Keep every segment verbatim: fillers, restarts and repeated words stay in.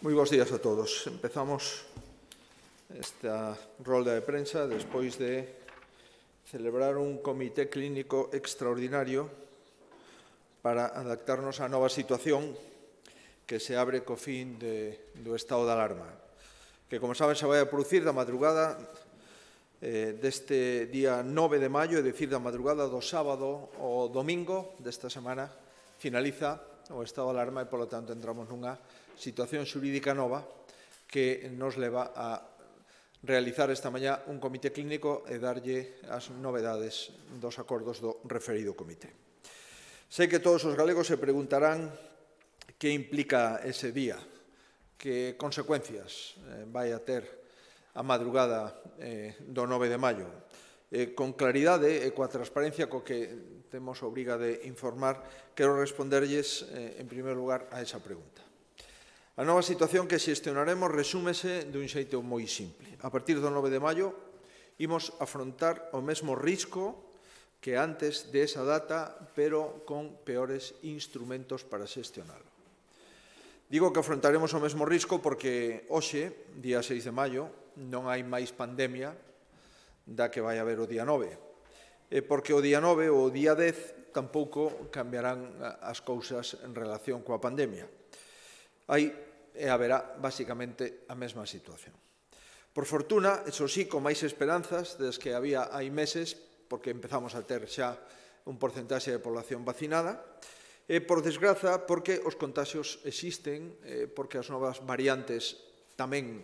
Moi bons días a todos. Empezamos esta rolda de prensa despois de celebrar un comité clínico extraordinario para adaptarnos á nova situación que se abre co fin de, do estado de alarma, que, como saben, se vai a producir da madrugada eh, deste día nove de maio, é dicir, da madrugada do sábado ao domingo desta semana, finaliza o estado de alarma e, polo tanto, entramos nunha situación xurídica nova que nos leva a realizar esta mañá un comité clínico e darlle as novedades dos acordos do referido comité. Sei que todos os galegos se preguntarán que implica ese día, que consecuencias vai a ter a madrugada do nove de maio. Con claridade e coa transparencia co que temos a obriga de informar, quero responderlles, en primeiro lugar, a esa pregunta. A nova situación que xestionaremos resúmese dun xeito moi simple. A partir do nove de maio, imos afrontar o mesmo risco que antes de esa data, pero con peores instrumentos para xestionalo. Digo que afrontaremos o mesmo risco porque hoxe, día seis de maio, non hai máis pandemia da que vai haber o día nove. E porque o día nove ou o día dez tampouco cambiarán as cousas en relación coa pandemia. Hai e haberá, basicamente, a mesma situación. Por fortuna, eso sí, con máis esperanzas das que había hai meses, porque empezamos a ter xa un porcentaxe de población vacinada, e, por desgraza, porque os contaxios existen, porque as novas variantes tamén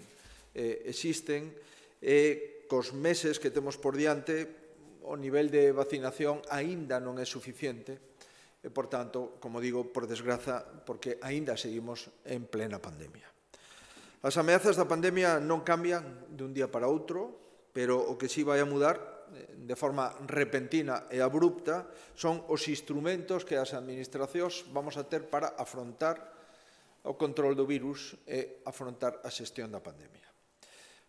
existen, e cos meses que temos por diante, o nivel de vacinación aínda non é suficiente, e, por tanto, como digo, por desgraza, porque aínda seguimos en plena pandemia. As ameazas da pandemia non cambian dun día para outro, pero o que sí vai a mudar de forma repentina e abrupta son os instrumentos que as administracións vamos a ter para afrontar o control do virus e afrontar a xestión da pandemia.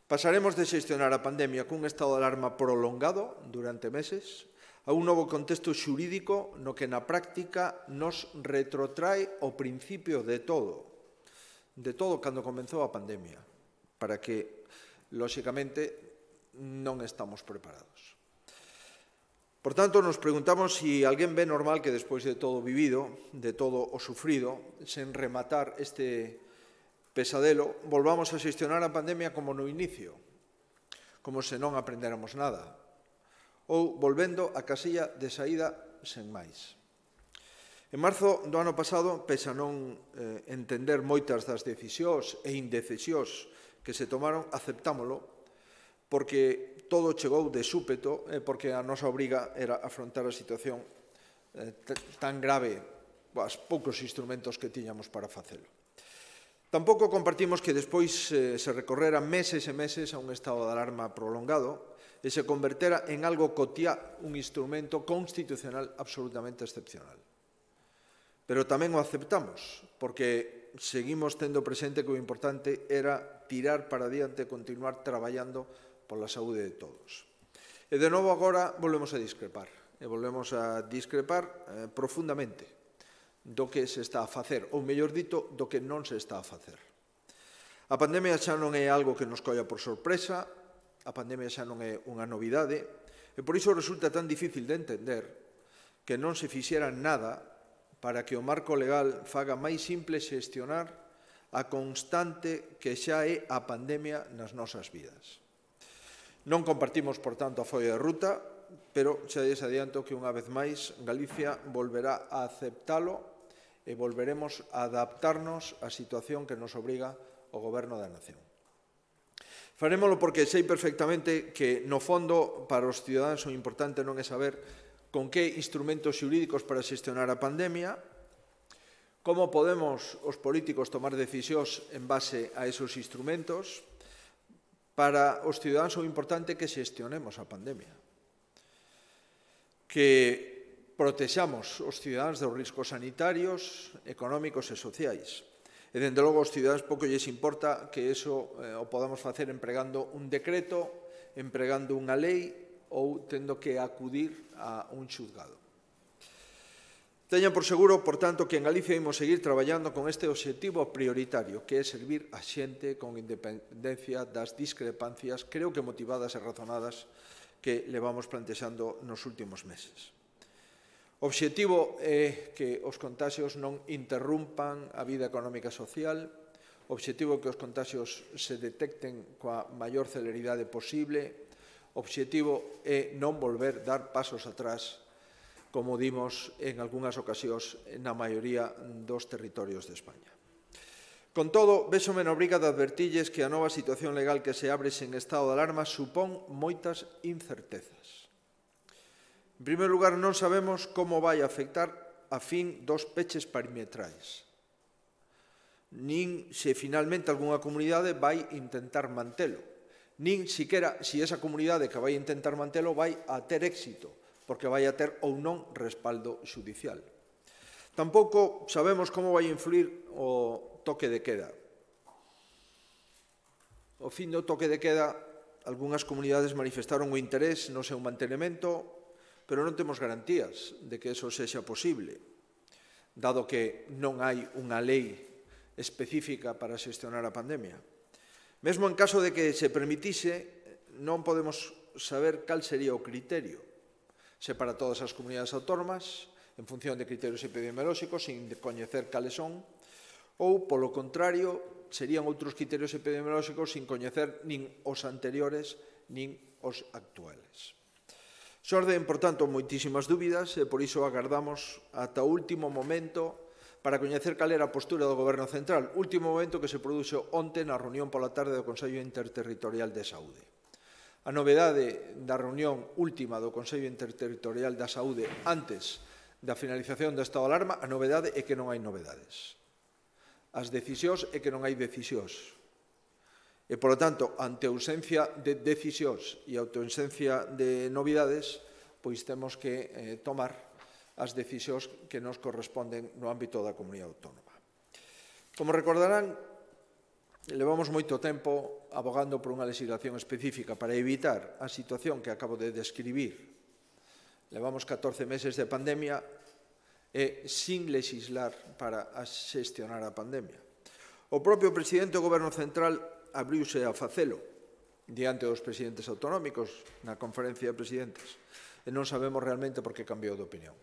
Pasaremos de xestionar a pandemia cun estado de alarma prolongado durante meses a un novo contexto xurídico no que na práctica nos retrotrae o principio de todo, de todo cando comenzou a pandemia, para que, lóxicamente, non estamos preparados. Por tanto, nos preguntamos se alguén ve normal que despois de todo o vivido, de todo o sufrido, sen rematar este pesadelo, volvamos a xestionar a pandemia como no inicio, como se non aprendéramos nada, ou volvendo á casilla de saída sen máis. En marzo do ano pasado, pese a non eh, entender moitas das decisións e indecisións que se tomaron, aceptámolo, porque todo chegou de súpeto e porque a nosa obriga era afrontar a situación eh, tan grave, os poucos instrumentos que tiñamos para facelo. Tampouco compartimos que despois eh, se recorrera meses e meses a un estado de alarma prolongado e se convertera en algo cotiá un instrumento constitucional absolutamente excepcional. Pero tamén o aceptamos, porque seguimos tendo presente que o importante era tirar para diante e continuar traballando pola saúde de todos. E de novo agora volvemos a discrepar, e volvemos a discrepar eh, profundamente do que se está a facer, ou mellor dito, do que non se está a facer. A pandemia xa non é algo que nos colla por sorpresa, a pandemia xa non é unha novidade, e por iso resulta tan difícil de entender que non se fixera nada para que o marco legal faga máis simple xestionar a constante que xa é a pandemia nas nosas vidas. Non compartimos, por tanto, a folla de ruta, pero xa lles adianto que unha vez máis Galicia volverá a aceptalo e volveremos a adaptarnos á situación que nos obriga o Goberno da Nación. Farémolo porque sei perfectamente que, no fondo, para os cidadáns o importante non é saber con que instrumentos xurídicos para xestionar a pandemia, como podemos os políticos tomar decisións en base a esos instrumentos. Para os cidadáns o importante é que xestionemos a pandemia, que protexamos os cidadáns dos riscos sanitarios, económicos e sociais. E, dende logo, aos cidadáns pouco lles importa que iso eh, o podamos facer empregando un decreto, empregando unha lei ou tendo que acudir a un xulgado. Teñan por seguro, por tanto, que en Galicia imos seguir traballando con este obxectivo prioritario, que é servir a xente con independencia das discrepancias, creo que motivadas e razonadas, que levamos plantexando nos últimos meses. O obxectivo é que os contaxios non interrumpan a vida económica e social, o obxectivo é que os contaxios se detecten coa maior celeridade posible, o obxectivo é non volver dar pasos atrás, como dimos en algunhas ocasións na maioría dos territorios de España. Con todo, véxome na obriga de advertilles que a nova situación legal que se abre sen estado de alarma supón moitas incertezas. En primeiro lugar, non sabemos como vai afectar a fin dos peches perimetrais, nin se finalmente algunha comunidade vai intentar mantelo, nin siquera se esa comunidade que vai intentar mantelo vai a ter éxito, porque vai a ter ou non respaldo xudicial. Tampouco sabemos como vai influir o toque de queda. O fin do toque de queda, algunhas comunidades manifestaron o interés no seu mantenimento, pero non temos garantías de que eso sexa posible, dado que non hai unha lei específica para xestionar a pandemia. Mesmo en caso de que se permitise, non podemos saber cal sería o criterio, se para todas as comunidades autónomas, en función de criterios epidemiolóxicos, sin coñecer cales son, ou, polo contrario, serían outros criterios epidemiolóxicos sin coñecer nin os anteriores nin os actuales. Xorden, por tanto, moitísimas dúbidas e por iso agardamos ata o último momento para coñecer cal era a postura do Goberno Central, último momento que se produxo onte na reunión pola tarde do Consello Interterritorial de Saúde. A novedade da reunión última do Consello Interterritorial da Saúde antes da finalización do estado de alarma, a novedade é que non hai novedades. As decisións é que non hai decisións. E, polo tanto, ante a ausencia de decisións e a ausencia de novidades, pois temos que eh, tomar as decisións que nos corresponden no ámbito da comunidade autónoma. Como recordarán, levamos moito tempo abogando por unha legislación específica para evitar a situación que acabo de describir. Levamos catorce meses de pandemia e sin legislar para xestionar a pandemia. O propio presidente do Goberno Central abriuse a facelo diante dos presidentes autonómicos na conferencia de presidentes e non sabemos realmente por que cambiou de opinión.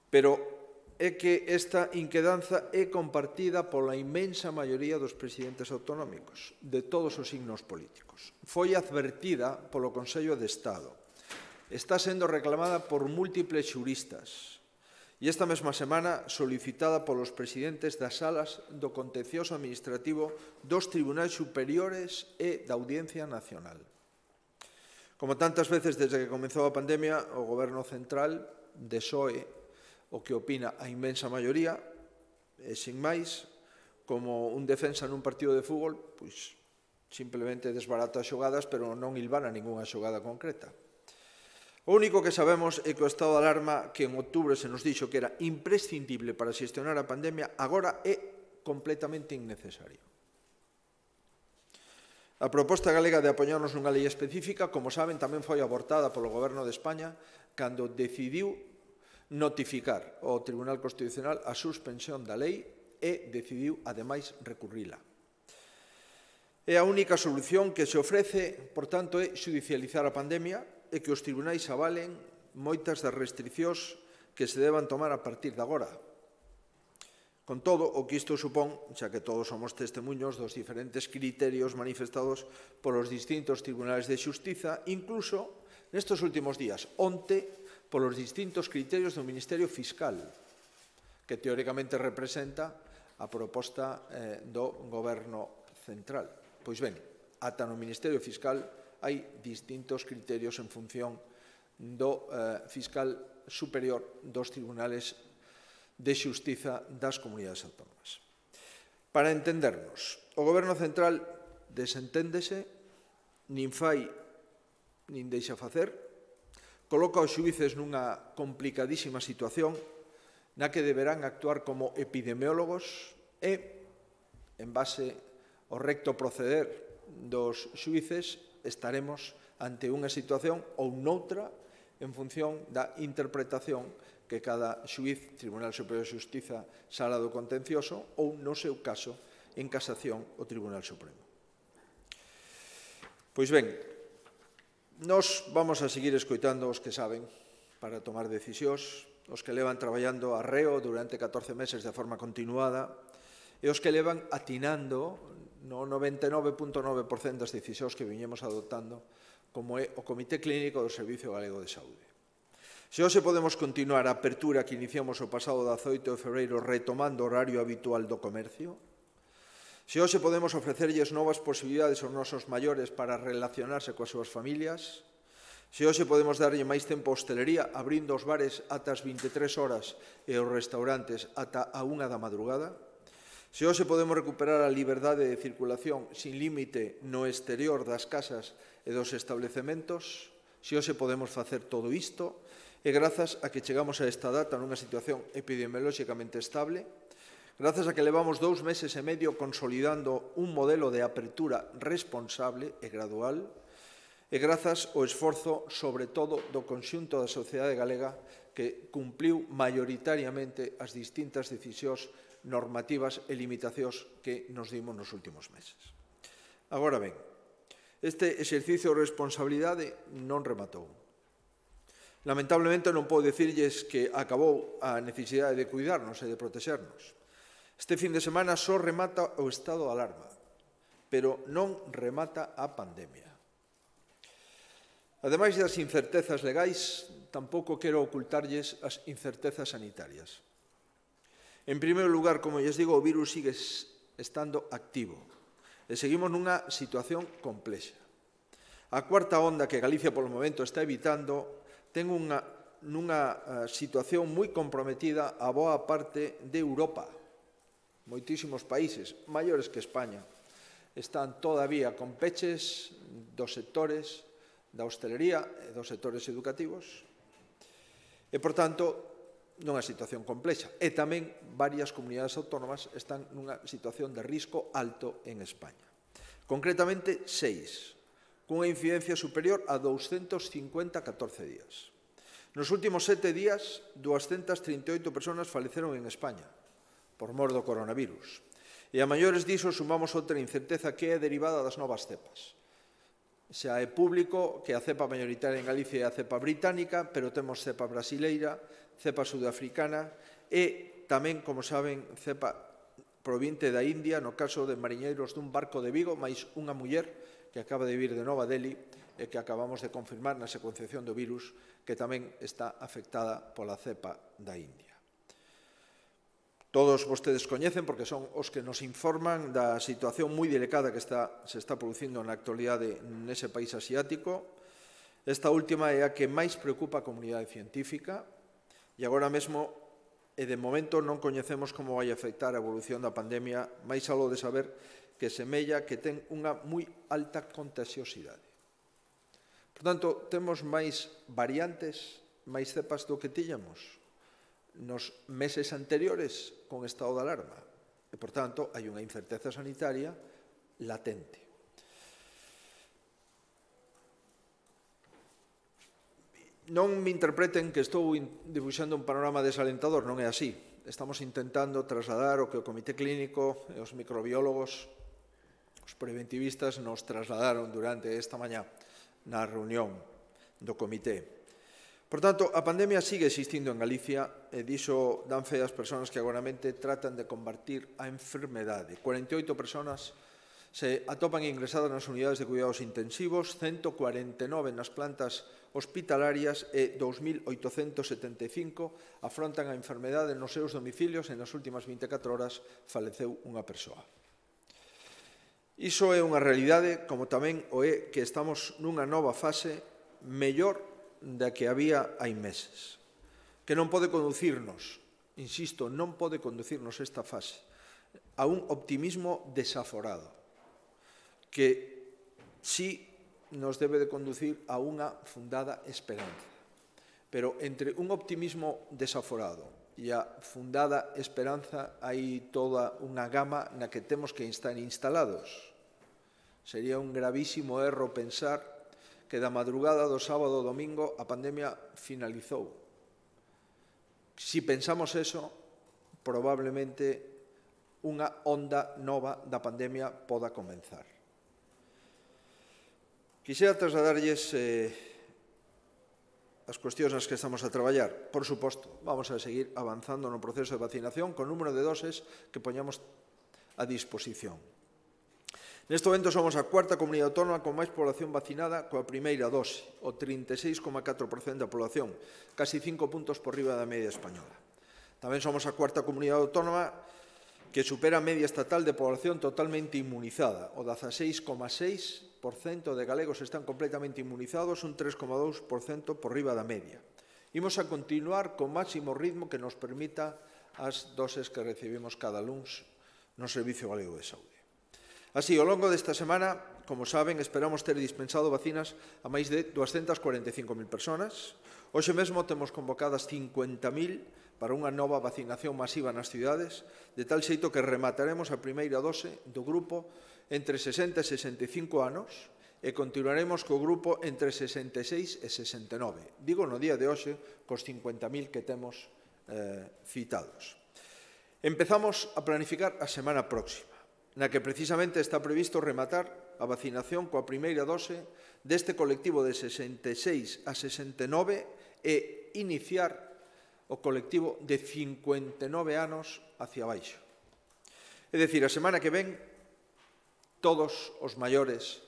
Pero é que esta inquedanza é compartida pola inmensa maioría dos presidentes autonómicos, de todos os signos políticos. Foi advertida polo Consello de Estado. Está sendo reclamada por múltiples xuristas e esta mesma semana solicitada polos presidentes das salas do contencioso administrativo dos tribunais superiores e da Audiencia Nacional. Como tantas veces desde que comezou a pandemia, o Goberno Central desoe o que opina a inmensa maioría, e sin máis, como un defensa nun partido de fútbol, pois simplemente desbarata as xogadas, pero non hilvana ningunha xogada concreta. O único que sabemos é que o estado de alarma, que en outubro se nos dixo que era imprescindible para xestionar a pandemia, agora é completamente innecesario. A proposta galega de apoiarnos nunha lei específica, como saben, tamén foi abortada polo Goberno de España cando decidiu notificar ao Tribunal Constitucional a suspensión da lei e decidiu, ademais, recurrila. E a única solución que se ofrece, por tanto, é xudicializar a pandemia e que os tribunais avalen moitas das restriccións que se deban tomar a partir de agora. Con todo, o que isto supón, xa que todos somos testemunhos dos diferentes criterios manifestados polos distintos tribunais de xustiza, incluso nestes últimos días, onte, polos distintos criterios do Ministerio Fiscal, que teóricamente representa a proposta eh, do Goberno Central. Pois ben, ata no Ministerio Fiscal hai distintos criterios en función do eh, fiscal superior dos tribunales de xustiza das comunidades autónomas. Para entendernos, o Goberno Central desenténdese, nin fai nin deixa facer, coloca os xuíces nunha complicadísima situación na que deberán actuar como epidemiólogos e, en base ao recto proceder dos xuíces, estaremos ante unha situación ou noutra en función da interpretación que cada xuiz, Tribunal Superior de Xustiza, Sala do Contencioso, ou, no seu caso, en casación, o Tribunal Supremo. Pois ben, nós vamos a seguir escoitando os que saben para tomar decisións, os que levan traballando arreo durante catorce meses de forma continuada e os que levan atinando no noventa e nove punto nove por cento das decisións que viñemos adoptando, como é o Comité Clínico do Servicio Galego de Saúde. Se hoxe podemos continuar a apertura que iniciamos o pasado dezaoito de febreiro retomando o horario habitual do comercio, se hoxe podemos ofrecerlles novas posibilidades aos nosos maiores para relacionarse coas súas familias, se hoxe podemos darlle máis tempo a hostelería abrindo os bares ata as vinte e tres horas e os restaurantes ata a unha da madrugada, se hoxe podemos recuperar a liberdade de circulación sin límite no exterior das casas e dos establecementos, se hoxe podemos facer todo isto, e grazas a que chegamos a esta data nunha situación epidemiolóxicamente estable, grazas a que levamos dous meses e medio consolidando un modelo de apertura responsable e gradual, e grazas ao esforzo, sobre todo, do conxunto da sociedade galega que cumpliu maioritariamente as distintas decisións normativas e limitacións que nos dimos nos últimos meses. Agora ben, este exercicio de responsabilidade non rematou. Lamentablemente non podo dicirlles que acabou a necesidade de cuidarnos e de protexernos. Este fin de semana só remata o estado de alarma, pero non remata a pandemia. Ademais das incertezas legais, tampouco quero ocultarlles as incertezas sanitarias. En primeiro lugar, como lles digo, o virus sigue estando activo e seguimos nunha situación complexa. A cuarta onda que Galicia polo momento está evitando ten unha, nunha situación moi comprometida a boa parte de Europa. Moitísimos países, maiores que España, están todavía con peches dos sectores da hostelería e dos sectores educativos e, por tanto, nunha situación complexa. E tamén varias comunidades autónomas están nunha situación de risco alto en España. Concretamente, seis, cunha incidencia superior a douscentos cincuenta a catorce días. Nos últimos sete días, doscientas trinta e oito persoas faleceron en España por mor do coronavirus. E a maiores diso sumamos outra incerteza que é derivada das novas cepas. Xa é público que a cepa mayoritaria en Galicia é a cepa británica, pero temos cepa brasileira, cepa sudafricana e tamén, como saben, cepa provinte da India, no caso de mariñeiros dun barco de Vigo, máis unha muller que acaba de vir de Nova Delhi e que acabamos de confirmar na secuenciación do virus que tamén está afectada pola cepa da India. Todos vostedes coñecen, porque son os que nos informan da situación moi delicada que está, se está producindo na actualidade nese país asiático. Esta última é a que máis preocupa a comunidade científica e agora mesmo, e de momento, non coñecemos como vai afectar a evolución da pandemia, máis algo de saber que semella que ten unha moi alta contagiosidade. Por tanto, temos máis variantes, máis cepas do que tiñamos nos meses anteriores con estado de alarma e, por tanto, hai unha incerteza sanitaria latente. Non me interpreten que estou dibuixando un panorama desalentador, non é así. Estamos intentando trasladar o que o Comité Clínico e os microbiólogos, os preventivistas, nos trasladaron durante esta mañá na reunión do Comité. Por tanto, a pandemia sigue existindo en Galicia e diso dan fe as persoas que agoramente tratan de combatir a enfermedade. cuarenta e oito persoas se atopan ingresadas nas unidades de cuidados intensivos, ciento cuarenta e nove nas plantas hospitalarias e dous mil oitocentos setenta e cinco afrontan a enfermedade nos seus domicilios e nas últimas vinte e catro horas faleceu unha persoa. Iso é unha realidade, como tamén o é que estamos nunha nova fase mellor da que había hai meses, que non pode conducirnos, insisto, non pode conducirnos esta fase a un optimismo desaforado, que sí nos debe de conducir a unha fundada esperanza. Pero entre un optimismo desaforado e a fundada esperanza hai toda unha gama na que temos que estar instalados. Sería un gravísimo erro pensar que da madrugada do sábado ao domingo a pandemia finalizou. Si pensamos eso, probablemente unha onda nova da pandemia poda comenzar. Quixera trasladarlles eh, as cuestións nas que estamos a traballar. Por suposto, vamos a seguir avanzando no proceso de vacinación con número de doses que poñamos a disposición. Neste momento somos a cuarta comunidade autónoma con máis población vacinada coa primeira dose, o trinta e seis coma catro por cento da población, casi cinco puntos por riba da media española. Tamén somos a cuarta comunidade autónoma que supera a media estatal de población totalmente inmunizada. O dezaseis coma seis por cento de galegos están completamente inmunizados, un tres coma dous por cento por riba da media. Imos a continuar con máximo ritmo que nos permita as doses que recibimos cada luns no Servicio Galego de Saúde. Así, ao longo desta semana, como saben, esperamos ter dispensado vacinas a máis de doscientas cuarenta e cinco mil persoas. Hoxe mesmo temos convocadas cincuenta mil para unha nova vacinación masiva nas cidades, de tal xeito que remataremos a primeira dose do grupo entre sesenta e sesenta e cinco anos e continuaremos co grupo entre sesenta e seis e sesenta e nove. Digo no día de hoxe, cos cincuenta mil que temos eh, citados. Empezamos a planificar a semana próxima, na que precisamente está previsto rematar a vacinación coa primeira dose deste colectivo de sesenta e seis a sesenta e nove e iniciar o colectivo de cincuenta e nove anos hacia baixo. É dicir, a semana que ven, todos os maiores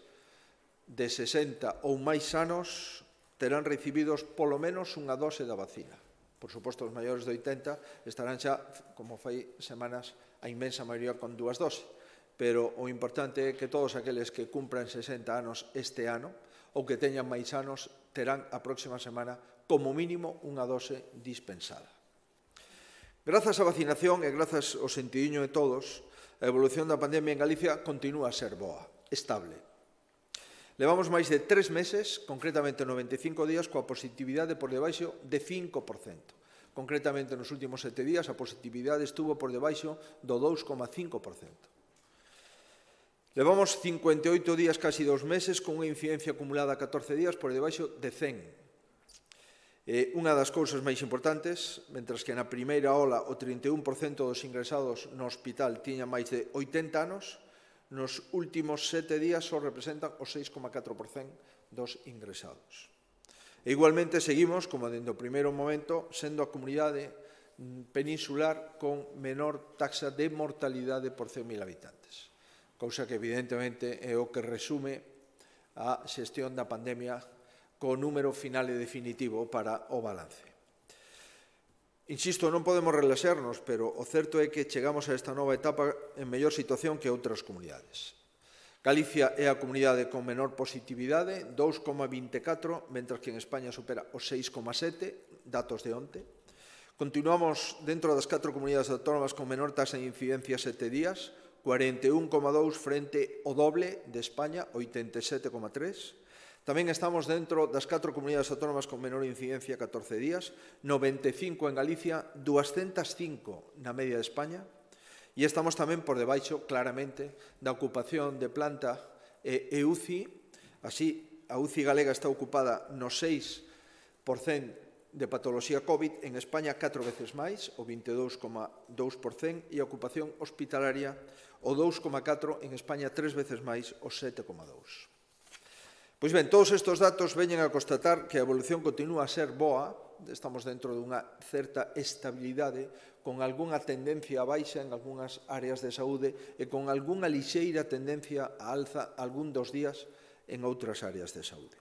de sesenta ou máis anos terán recibidos polo menos unha dose da vacina. Por suposto, os maiores de oitenta estarán xa, como fai semanas, a inmensa maioría con dúas doses. Pero o importante é que todos aqueles que cumpran sesenta anos este ano ou que teñan máis anos terán a próxima semana como mínimo unha dose dispensada. Grazas á vacinación e grazas ao sentidiño de todos, a evolución da pandemia en Galicia continúa a ser boa, estable. Levamos máis de tres meses, concretamente noventa e cinco días, coa positividade por debaixo de cinco por cento. Concretamente, nos últimos sete días, a positividade estuvo por debaixo do dous coma cinco por cento. Levamos cincuenta e oito días, casi dos meses, con unha incidencia acumulada a catorce días por debaixo de cen. Eh, unha das cousas máis importantes, mentras que na primeira ola o trinta e un por cento dos ingresados no hospital tiña máis de oitenta anos, nos últimos sete días só representan o seis coma catro por cento dos ingresados. E igualmente seguimos, como dende o primeiro momento, sendo a comunidade peninsular con menor taxa de mortalidade por cen mil habitantes. Cousa que evidentemente é o que resume a xestión da pandemia co número final e definitivo para o balance. Insisto, non podemos relaxarnos, pero o certo é que chegamos a esta nova etapa en mellor situación que outras comunidades. Galicia é a comunidade con menor positividade, dous coma vinte e catro, mentras que en España supera os seis coma sete, datos de onte. Continuamos dentro das catro comunidades autónomas con menor taxa de incidencia sete días, cuarenta e un coma dous frente ao doble de España, oitenta e sete coma tres. Tamén estamos dentro das catro comunidades autónomas con menor incidencia, catorce días, noventa e cinco en Galicia, duascentas cinco na media de España, e estamos tamén por debaixo, claramente, da ocupación de planta e U C I. Así, a U C I galega está ocupada no seis por cento de patoloxía COVID, en España catro veces máis, o vinte e dous coma dous por cento, e a ocupación hospitalaria o dous coma catro por cento, en España tres veces máis, o sete coma dous por cento. Pois ben, todos estes datos veñen a constatar que a evolución continúa a ser boa, estamos dentro dunha certa estabilidade, con algunha tendencia a baixa en algunhas áreas de saúde e con algunha lixeira tendencia a alza algún dos días en outras áreas de saúde.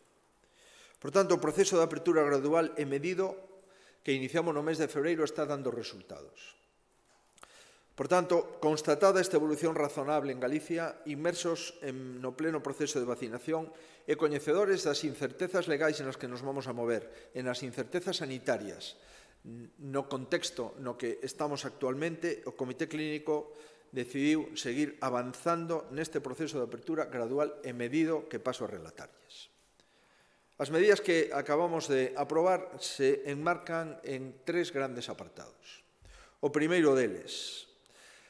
Por tanto, o proceso de apertura gradual e medido que iniciamos no mes de febreiro está dando resultados. Por tanto, constatada esta evolución razonable en Galicia, inmersos en, no pleno proceso de vacinación e coñecedores das incertezas legais nas que nos vamos a mover, e nas incertezas sanitarias, no contexto no que estamos actualmente, o Comité Clínico decidiu seguir avanzando neste proceso de apertura gradual e medido que paso a relatarlles. As medidas que acabamos de aprobar se enmarcan en tres grandes apartados. O primeiro deles,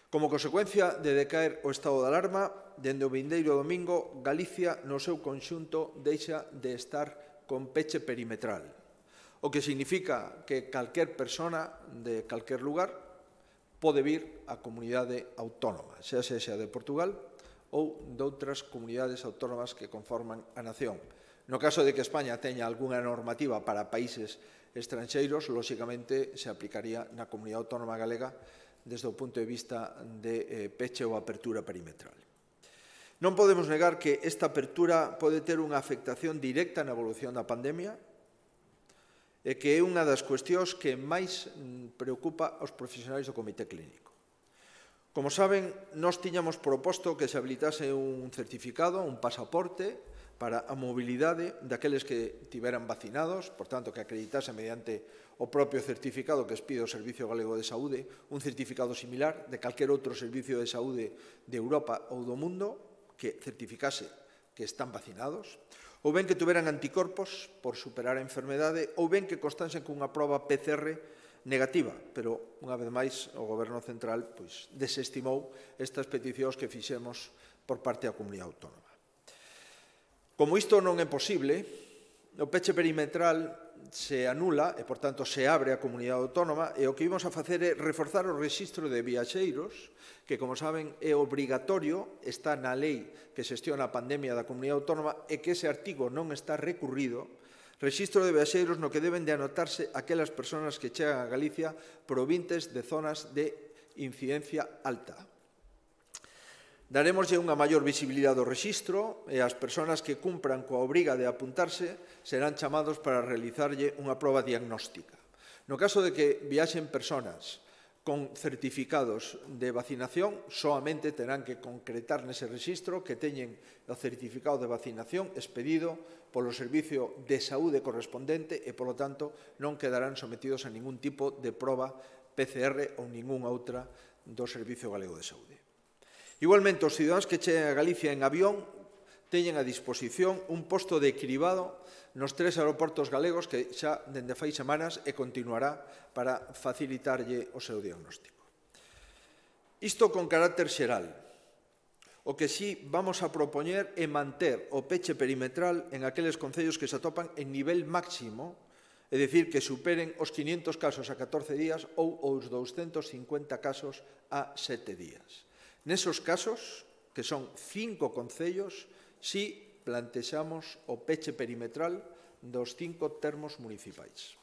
como consecuencia de decaer o estado de alarma, dende o vindeiro domingo, Galicia no seu conxunto deixa de estar con peche perimetral. o que significa que calquer persona de calquer lugar pode vir á comunidade autónoma, xa sexa de Portugal ou de outras comunidades autónomas que conforman a nación. No caso de que España teña algunha normativa para países estranxeiros, lóxicamente se aplicaría na comunidade autónoma galega desde o punto de vista de peche ou apertura perimetral. Non podemos negar que esta apertura pode ter unha afectación directa na evolución da pandemia e que é unha das cuestións que máis preocupa aos profesionais do Comité Clínico. Como saben, nós tiñamos proposto que se habilitase un certificado, un pasaporte, para a mobilidade daqueles que tiveran vacinados, por tanto, que acreditase mediante o propio certificado que expide o Servicio Galego de Saúde, un certificado similar de calquer outro servicio de saúde de Europa ou do mundo que certificase que están vacinados, ou ben que tuveran anticorpos por superar a enfermedade, ou ben que constasen cunha proba P C R negativa, pero, unha vez máis, o Goberno Central pois, desestimou estas peticións que fixemos por parte da Comunidade Autónoma. Como isto non é posible, o peche perimetral se anula e, por tanto, se abre a Comunidade Autónoma e o que vimos a facer é reforzar o rexistro de viaxeiros que, como saben, é obrigatorio, está na lei que xestiona a pandemia da Comunidade Autónoma e que ese artigo non está recurrido, rexistro de viaxeiros no que deben de anotarse aquelas persoas que chegan a Galicia provintes de zonas de incidencia alta. Daremoslle unha maior visibilidade ao rexistro e as persoas que cumpran coa obriga de apuntarse serán chamados para realizarlle unha proba diagnóstica. No caso de que viaxen persoas con certificados de vacinación, soamente terán que concretar nese rexistro que teñen o certificado de vacinación expedido polo Servicio de Saúde correspondente e, polo tanto, non quedarán sometidos a ningún tipo de proba P C R ou ningunha outra do Servicio Galego de Saúde. Igualmente, os cidadáns que cheguen a Galicia en avión teñen a disposición un posto de cribado nos tres aeroportos galegos que xa dende fai semanas e continuará para facilitarlle o seu diagnóstico. Isto con carácter xeral. O que sí vamos a propoñer é manter o peche perimetral en aqueles concellos que se atopan en nivel máximo, é dicir, que superen os quinientos casos a catorce días ou os douscentos cincuenta casos a sete días. Nesos casos, que son cinco concellos, si plantexamos o peche perimetral dos cinco termos municipais.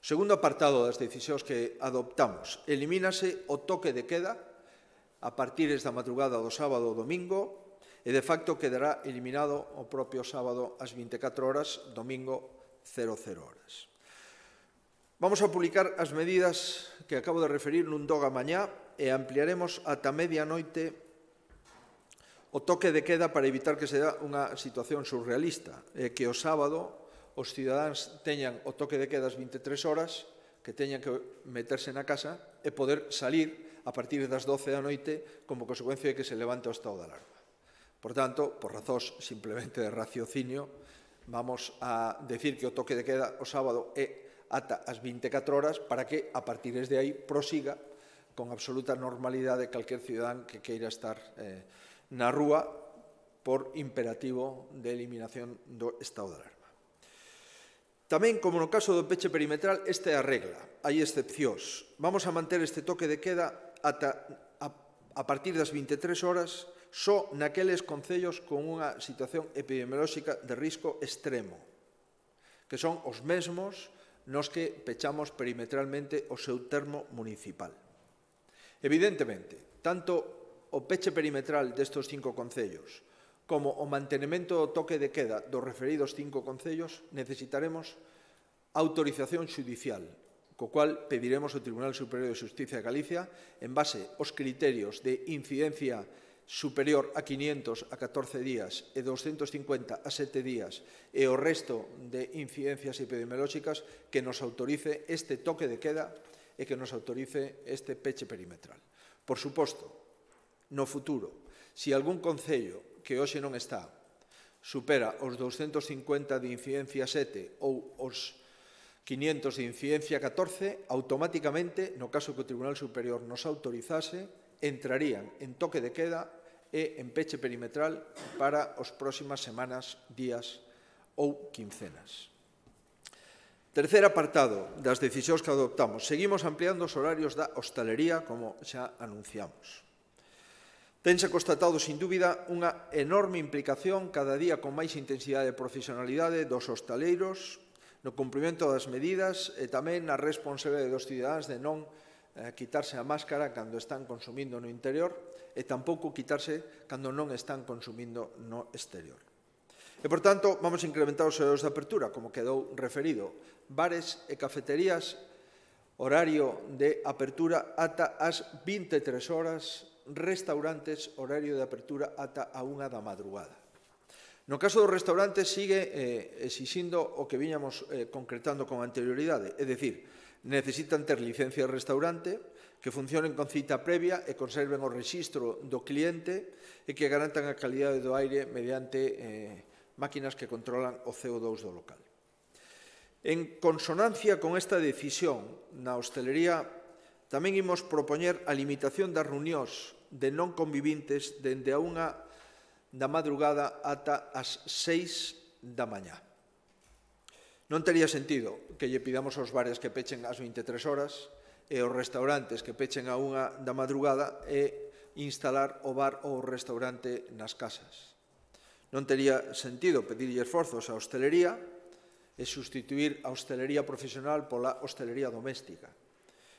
O segundo apartado das decisións que adoptamos, elimínase o toque de queda a partir da madrugada do sábado ou domingo e, de facto, quedará eliminado o propio sábado ás vinte e catro horas, domingo cero cero horas. Vamos a publicar as medidas que acabo de referir nun doga mañá e ampliaremos ata medianoite o toque de queda para evitar que se dá unha situación surrealista, e que o sábado os cidadáns teñan o toque de queda ás vinte e tres horas, que teñan que meterse na casa e poder salir a partir das doce da noite como consecuencia de que se levante o estado de alarma. Por tanto, por razóns simplemente de raciocinio, vamos a decir que o toque de queda o sábado é ata as vinte e catro horas para que, a partir de aí, prosiga con absoluta normalidade calquer cidadán que queira estar eh, na rúa por imperativo de eliminación do estado de alarma. Tamén, como no caso do peche perimetral, esta é a regla, hai excepcións. Vamos a manter este toque de queda ata a, a partir das vinte e tres horas só naqueles concellos con unha situación epidemiolóxica de risco extremo, que son os mesmos nos que pechamos perimetralmente o seu termo municipal. Evidentemente, tanto o peche perimetral destes cinco concellos como o mantenimento do toque de queda dos referidos cinco concellos necesitaremos autorización xudicial, co cual pediremos ao Tribunal Superior de Xustiza de Galicia, en base aos criterios de incidencia superior a quinientos a catorce días e doscientos cincuenta a sete días e o resto de incidencias epidemiolóxicas, que nos autorice este toque de queda e que nos autorice este peche perimetral. Por suposto, no futuro, se algún concello que hoxe non está supera os doscientos cincuenta de incidencia sete ou os quinientos de incidencia catorce, automáticamente, no caso que o Tribunal Superior nos autorizase, entrarían en toque de queda e en peche perimetral para as próximas semanas, días ou quincenas. Terceiro apartado das decisións que adoptamos. Seguimos ampliando os horarios da hostalería, como xa anunciamos. Tense constatado, sin dúbida, unha enorme implicación cada día con máis intensidade e profesionalidade dos hostaleiros no cumprimento das medidas e tamén na responsabilidade dos cidadáns de non eh, quitarse a máscara cando están consumindo no interior e tampouco quitarse cando non están consumindo no exterior. E, por tanto, vamos a incrementar os horarios de apertura, como quedou referido. Bares e cafeterías, horario de apertura ata as vinte e tres horas, restaurantes, horario de apertura ata a unha da madrugada. No caso dos restaurantes, sigue eh, exixindo o que viñamos eh, concretando con anterioridade, é dicir, necesitan ter licencia de restaurante, que funcionen con cita previa e conserven o rexistro do cliente e que garantan a calidade do aire mediante eh, máquinas que controlan o C O dous do local. En consonancia con esta decisión na hostelería, tamén imos propoñer a limitación das reunións de non convivintes dende a unha da madrugada ata as seis da mañá. Non tería sentido que lle pidamos aos bares que pechen ás vinte e tres horas e aos restaurantes que pechen a unha da madrugada e instalar o bar ou o restaurante nas casas. Non tería sentido pedirlle esforzos á hostelería e sustituir a hostelería profesional pola hostelería doméstica.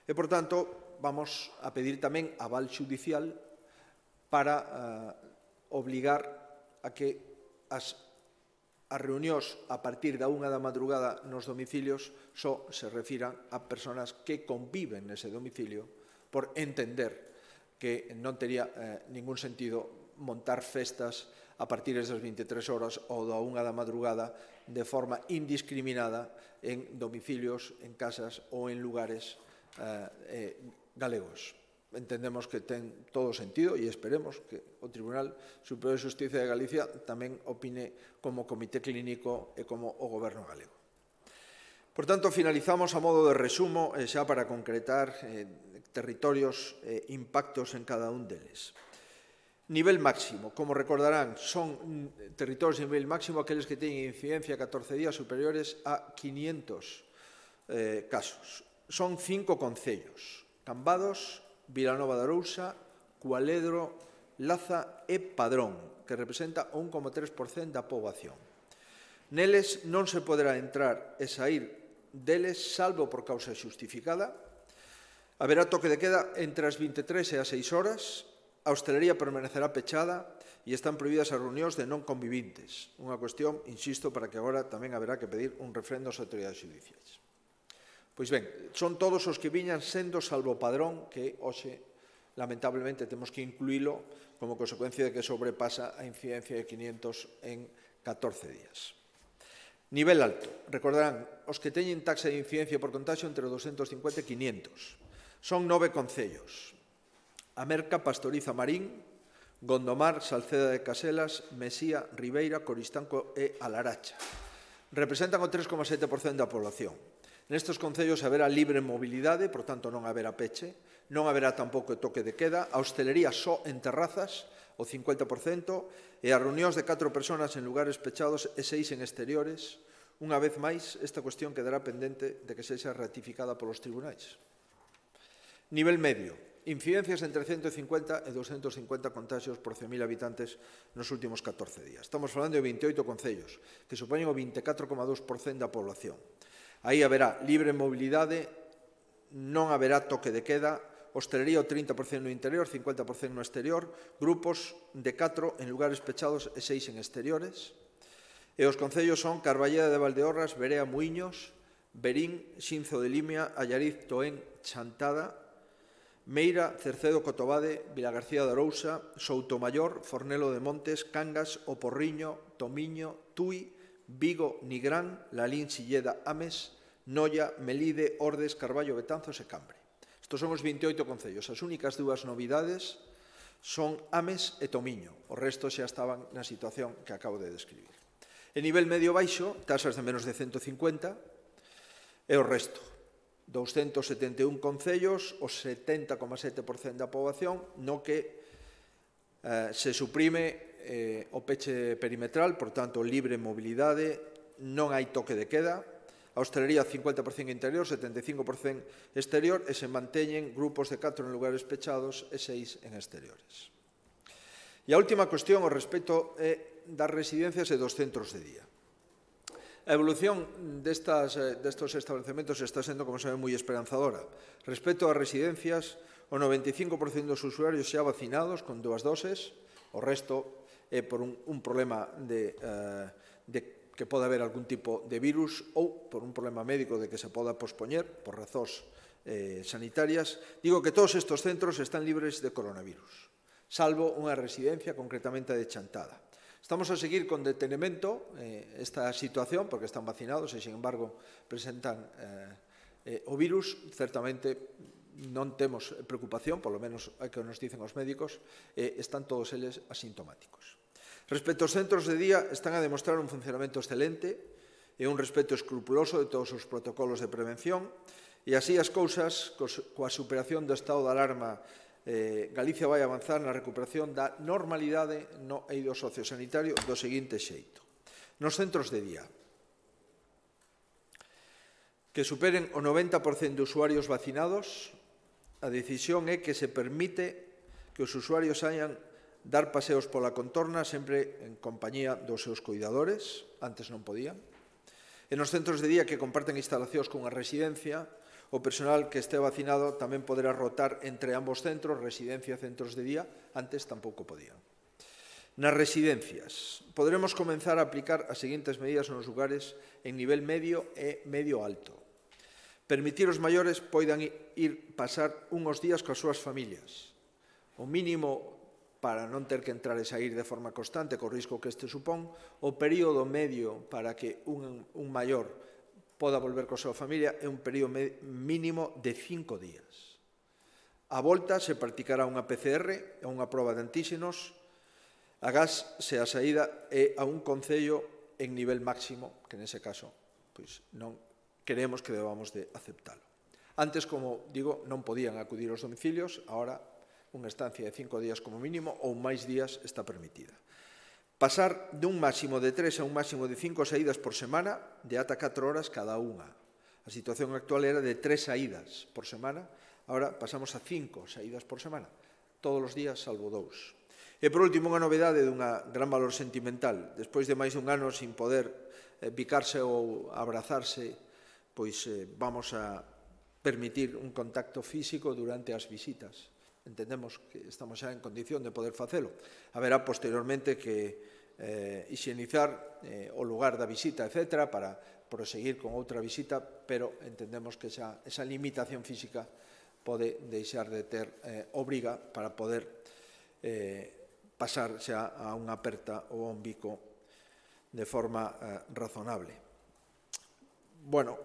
E, por tanto, vamos a pedir tamén aval xudicial para uh, obligar a que as, as reunións a partir da unha da madrugada nos domicilios só se refiran a persoas que conviven nese domicilio, por entender que non tería eh, ningún sentido montar festas a partir das vinte e tres horas ou da unha da madrugada de forma indiscriminada en domicilios, en casas ou en lugares eh, galegos. Entendemos que ten todo sentido e esperemos que o Tribunal Superior de Xustiza de Galicia tamén opine como Comité Clínico e como o Goberno galego. Por tanto, finalizamos a modo de resumo e xa para concretar eh, territorios e eh, impactos en cada un deles. Nivel máximo, como recordarán, son territorios de nivel máximo aqueles que teñen incidencia catorce días superiores a quinientos eh, casos. Son cinco concellos: Cambados, Vilanova de Arousa, Cualedro, Laza e Padrón, que representa o un coma tres por cento da poboación. Neles non se poderá entrar e sair deles salvo por causa xustificada. Haberá toque de queda entre as vinte e tres e as seis horas. A hostelería permanecerá pechada e están prohibidas as reunións de non convivintes. Unha cuestión, insisto, para que agora tamén haberá que pedir un refrendo ás autoridades judiciais. Pois ben, son todos os que viñan sendo salvo Padrón, que hoxe, lamentablemente, temos que incluílo como consecuencia de que sobrepasa a incidencia de quinientos en catorce días. Nivel alto. Recordarán, os que teñen taxa de incidencia por contagio entre doscientos cincuenta e quinientos. Son nove concellos: Amerca, Pastoriza, Marín, Gondomar, Salceda de Caselas, Mesía, Ribeira, Coristanco e Alaracha. Representan o tres coma sete por cento da población. Nestes concellos haberá libre mobilidade, por tanto non haberá peche, non haberá tampouco toque de queda, a hostelería só en terrazas, o cincuenta por cento, e as reunións de catro persoas en lugares pechados e seis en exteriores. Unha vez máis, esta cuestión quedará pendente de que sexa ratificada polos tribunais. Nivel medio. Incidencias entre ciento cincuenta e doscientos cincuenta contagios por cen mil habitantes nos últimos catorce días. Estamos falando de vinte e oito concellos, que supoñen o vinte e catro coma dous por cento da población. Aí haberá libre mobilidade, non haberá toque de queda, hostelería o trinta por cento no interior, cincuenta por cento no exterior, grupos de catro en lugares pechados e seis en exteriores. E os concellos son Carballeda de Valdeorras, Berea, Muiños, Verín, Xinzo de Limia, Allariz, Toén, Chantada, Meira, Cercedo, Cotobade, Vilagarcía de Arousa, Soutomayor, Fornelo de Montes, Cangas, O Porriño, Tomiño, Tui, Vigo, Nigrán, Lalín, Silleda, Ames, Noia, Melide, Ordes, Carballo, Betanzos e Cambre. Estos son os vinte e oito concellos. As únicas dúas novidades son Ames e Tomiño. O resto xa estaban na situación que acabo de describir. En nivel medio-baixo, tasas de menos de ciento cincuenta, e o resto. doscientos setenta e un concellos, o setenta coma sete por cento da poboación, no que eh, se suprime eh, o peche perimetral, por tanto, libre mobilidade, non hai toque de queda, a a hostelería cincuenta por cento interior, setenta e cinco por cento exterior, e se manteñen grupos de catro en lugares pechados e seis en exteriores. E a última cuestión, o respecto é das residencias e dos centros de día. A evolución destas, destos establecementos está sendo, como saben, moi esperanzadora. Respecto ás residencias, o noventa e cinco por cento dos usuarios xa vacinados con dúas doses, o resto é por un, un problema de, uh, de que pode haber algún tipo de virus ou por un problema médico de que se poda pospoñer por razóns eh, sanitarias. Digo que todos estes centros están libres de coronavirus, salvo unha residencia concretamente de Chantada. Estamos a seguir con detenimento eh, esta situación, porque están vacinados e, sin embargo, presentan eh, eh, o virus. Certamente non temos preocupación, polo menos é que nos dicen os médicos, eh, están todos eles asintomáticos. Respecto aos centros de día, están a demostrar un funcionamento excelente e un respeto escrupuloso de todos os protocolos de prevención, e así as cousas, coa superación do estado de alarma, eh, Galicia vai avanzar na recuperación da normalidade no eido sociosanitario do seguinte xeito. Nos centros de día, que superen o noventa por cento de usuarios vacinados, a decisión é que se permite que os usuarios hayan dar paseos pola contorna sempre en compañía dos seus cuidadores, antes non podían. E nos centros de día que comparten instalacións cunha residencia, o personal que este vacinado tamén poderá rotar entre ambos centros, residencia e centros de día, antes tampouco podían. Nas residencias, poderemos comenzar a aplicar as seguintes medidas nos lugares en nivel medio e medio alto. Permitir os maiores poidan ir pasar unhos días coas súas familias. O mínimo para non ter que entrar e sair de forma constante, co risco que este supón, o período medio para que un, un maior poda volver coa súa familia é un período mínimo de cinco días. A volta se practicará unha P C R, unha proba de antíxenos, agás se a saída é a un concello en nivel máximo, que nese caso pois, non queremos que debamos de aceptalo. Antes, como digo, non podían acudir aos domicilios, agora unha estancia de cinco días como mínimo ou máis días está permitida. Pasar dun máximo de tres a un máximo de cinco saídas por semana de ata catro horas cada unha. A situación actual era de tres saídas por semana, agora pasamos a cinco saídas por semana, todos os días salvo dous. E por último, unha novedade dunha gran valor sentimental. Despois de máis dun ano sin poder eh, picarse ou abrazarse, pois eh, vamos a permitir un contacto físico durante as visitas. Entendemos que estamos xa en condición de poder facelo. Haberá posteriormente que eh, higienizar eh, o lugar da visita, etcétera, para proseguir con outra visita, pero entendemos que esa, esa limitación física pode deixar de ter eh, obriga para poder eh, pasar xa a unha aperta ou a un bico de forma eh, razonable. Bueno,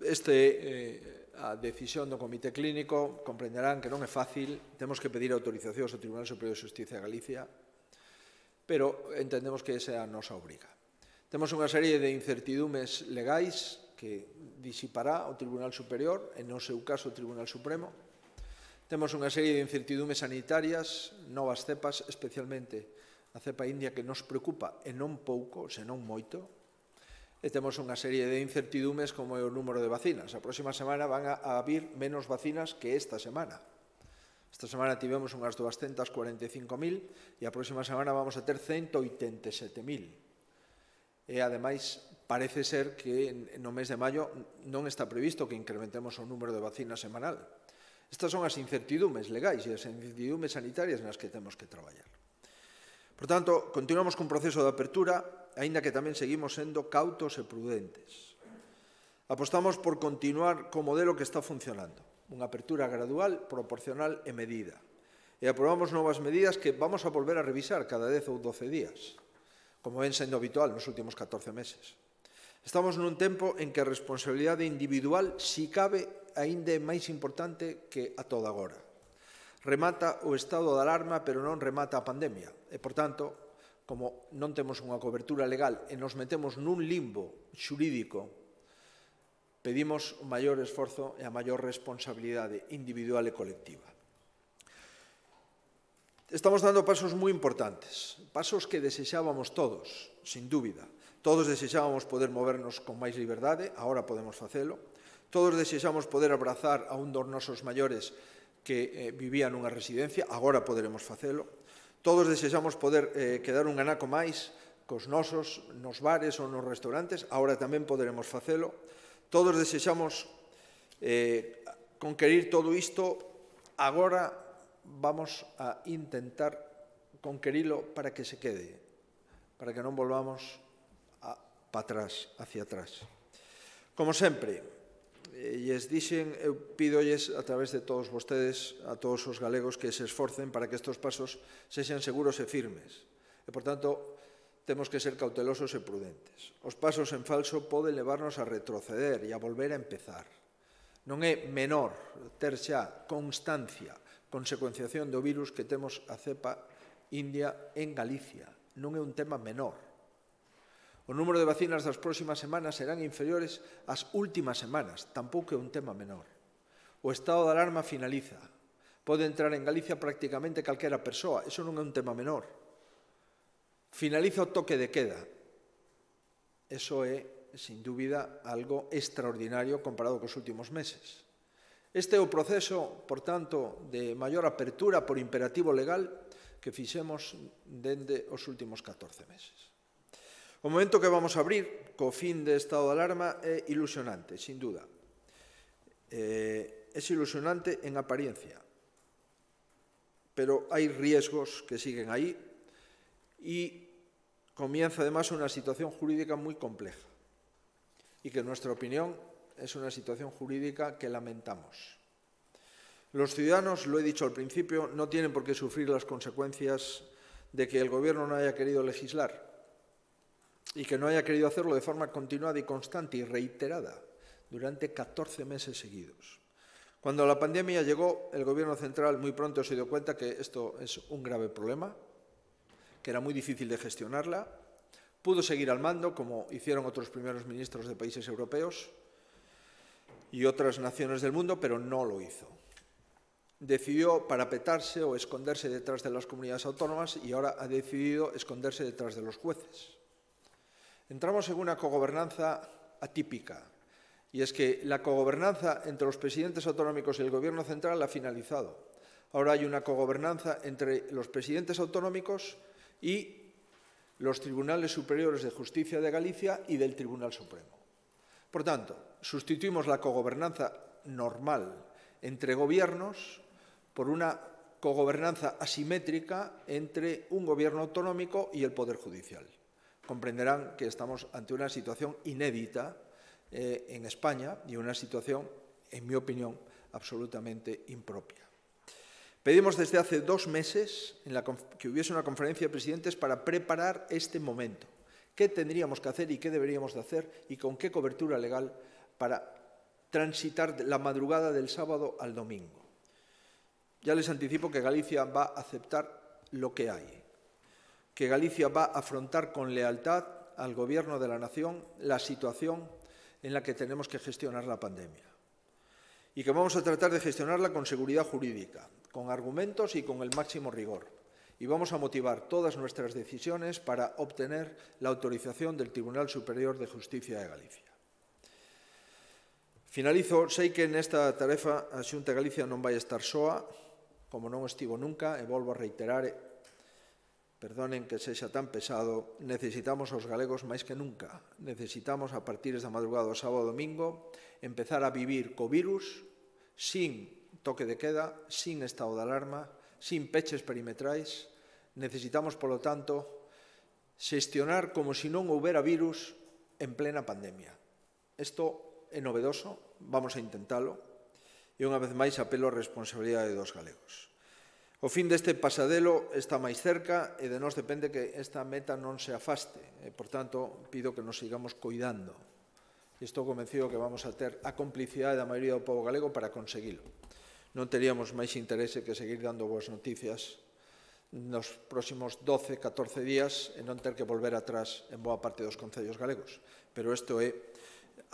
este eh, a decisión do Comité Clínico, comprenderán que non é fácil, temos que pedir autorizacións ao Tribunal Superior de Xustiza de Galicia, pero entendemos que esa é a nosa obriga. Temos unha serie de incertidumes legais que disipará o Tribunal Superior, en no seu caso o Tribunal Supremo. Temos unha serie de incertidumes sanitarias, novas cepas, especialmente a cepa india que nos preocupa, e non pouco, senón moito. E temos unha serie de incertidumes como é o número de vacinas. A próxima semana van a vir menos vacinas que esta semana. Esta semana tivemos unhas doscientas cuarenta e cinco mil e a próxima semana vamos a ter ciento oitenta e sete mil. E, ademais, parece ser que no mes de maio non está previsto que incrementemos o número de vacinas semanal. Estas son as incertidumes legais e as incertidumes sanitarias nas que temos que traballar. Por tanto, continuamos cun proceso de apertura, aínda que tamén seguimos sendo cautos e prudentes. Apostamos por continuar co modelo que está funcionando, unha apertura gradual, proporcional e medida. E aprobamos novas medidas que vamos a volver a revisar cada dez ou doce días, como ven sendo habitual nos últimos catorce meses. Estamos nun tempo en que a responsabilidade individual, si cabe, aínda é máis importante que a toda agora. Remata o estado de alarma, pero non remata a pandemia. E, por tanto, como non temos unha cobertura legal e nos metemos nun limbo xurídico, pedimos o maior esforzo e a maior responsabilidade individual e colectiva. Estamos dando pasos moi importantes, pasos que desexábamos todos, sin dúbida. Todos desexábamos poder movernos con máis liberdade, agora podemos facelo. Todos desexamos poder abrazar a un dos nosos maiores que eh, vivía nunha residencia, agora poderemos facelo. Todos desexamos poder eh, quedar un anaco máis cos nosos nos bares ou nos restaurantes, agora tamén poderemos facelo. Todos desexamos eh, conquerir todo isto, agora vamos a intentar conquerilo para que se quede, para que non volvamos para atrás, hacia atrás. Como sempre, e lles dixen, eu pídolles a través de todos vostedes, a todos os galegos, que se esforcen para que estes pasos sexan seguros e firmes. E, por tanto, temos que ser cautelosos e prudentes. Os pasos en falso poden levarnos a retroceder e a volver a empezar. Non é menor ter xa constancia, consecuenciación do virus que temos a cepa india en Galicia. Non é un tema menor. O número de vacinas das próximas semanas serán inferiores ás últimas semanas. Tampouco é un tema menor. O estado de alarma finaliza. Pode entrar en Galicia prácticamente calquera persoa. Eso non é un tema menor. Finaliza o toque de queda. Eso é, sin dúbida, algo extraordinario comparado cos últimos meses. Este é o proceso, por tanto, de maior apertura por imperativo legal que fixemos dende os últimos catorce meses. O momento que vamos a abrir co fin de estado de alarma é ilusionante, sin duda. É ilusionante en apariencia, pero hai riesgos que siguen aí e comienza además una situación jurídica muy compleja y que en nuestra opinión es una situación jurídica que lamentamos. Los ciudadanos, lo he dicho al principio, no tienen por qué sufrir las consecuencias de que el Gobierno no haya querido legislar y que no haya querido hacerlo de forma continuada y constante y reiterada durante catorce meses seguidos. Cuando la pandemia llegó, el Gobierno central muy pronto se dio cuenta que esto es un grave problema, que era muy difícil de gestionarla. Pudo seguir al mando, como hicieron otros primeros ministros de países europeos y otras naciones del mundo, pero no lo hizo. Decidió parapetarse o esconderse detrás de las comunidades autónomas y ahora ha decidido esconderse detrás de los jueces. Entramos en una cogobernanza atípica, y es que la cogobernanza entre los presidentes autonómicos y el Gobierno central ha finalizado. Ahora hay una cogobernanza entre los presidentes autonómicos y los tribunales superiores de justicia de Galicia y del Tribunal Supremo. Por tanto, sustituimos la cogobernanza normal entre gobiernos por una cogobernanza asimétrica entre un gobierno autonómico y el Poder Judicial. Comprenderán que estamos ante una situación inédita eh, en España y una situación, en mi opinión, absolutamente impropia. Pedimos desde hace dos meses en la, que hubiese una conferencia de presidentes para preparar este momento. ¿Qué tendríamos que hacer y qué deberíamos de hacer y con qué cobertura legal para transitar la madrugada del sábado al domingo? Ya les anticipo que Galicia va a aceptar lo que hay, que Galicia va a afrontar con lealtad al Gobierno de la Nación la situación en la que tenemos que gestionar la pandemia y que vamos a tratar de gestionarla con seguridad jurídica, con argumentos y con el máximo rigor. Y vamos a motivar todas nuestras decisiones para obtener la autorización del Tribunal Superior de Justicia de Galicia. Finalizo, sei que nesta tarefa a Xunta de Galicia non vai estar soa, como non estivo nunca, e volvo a reiterar, perdonen que sexa tan pesado, necesitamos aos galegos máis que nunca. Necesitamos, a partir da madrugada do sábado e domingo, empezar a vivir co virus sin toque de queda, sin estado de alarma, sin peches perimetrais. Necesitamos, polo tanto, xestionar como se non houbera virus en plena pandemia. Isto é novedoso, vamos a intentalo, e unha vez máis apelo a responsabilidade dos galegos. O fin deste pasadelo está máis cerca e de nós depende que esta meta non se afaste. E, por tanto, pido que nos sigamos cuidando. Estou convencido que vamos a ter a complicidade da maioría do povo galego para conseguilo. Non teríamos máis interese que seguir dando boas noticias nos próximos doce, catorce días e non ter que volver atrás en boa parte dos concellos galegos. Pero isto é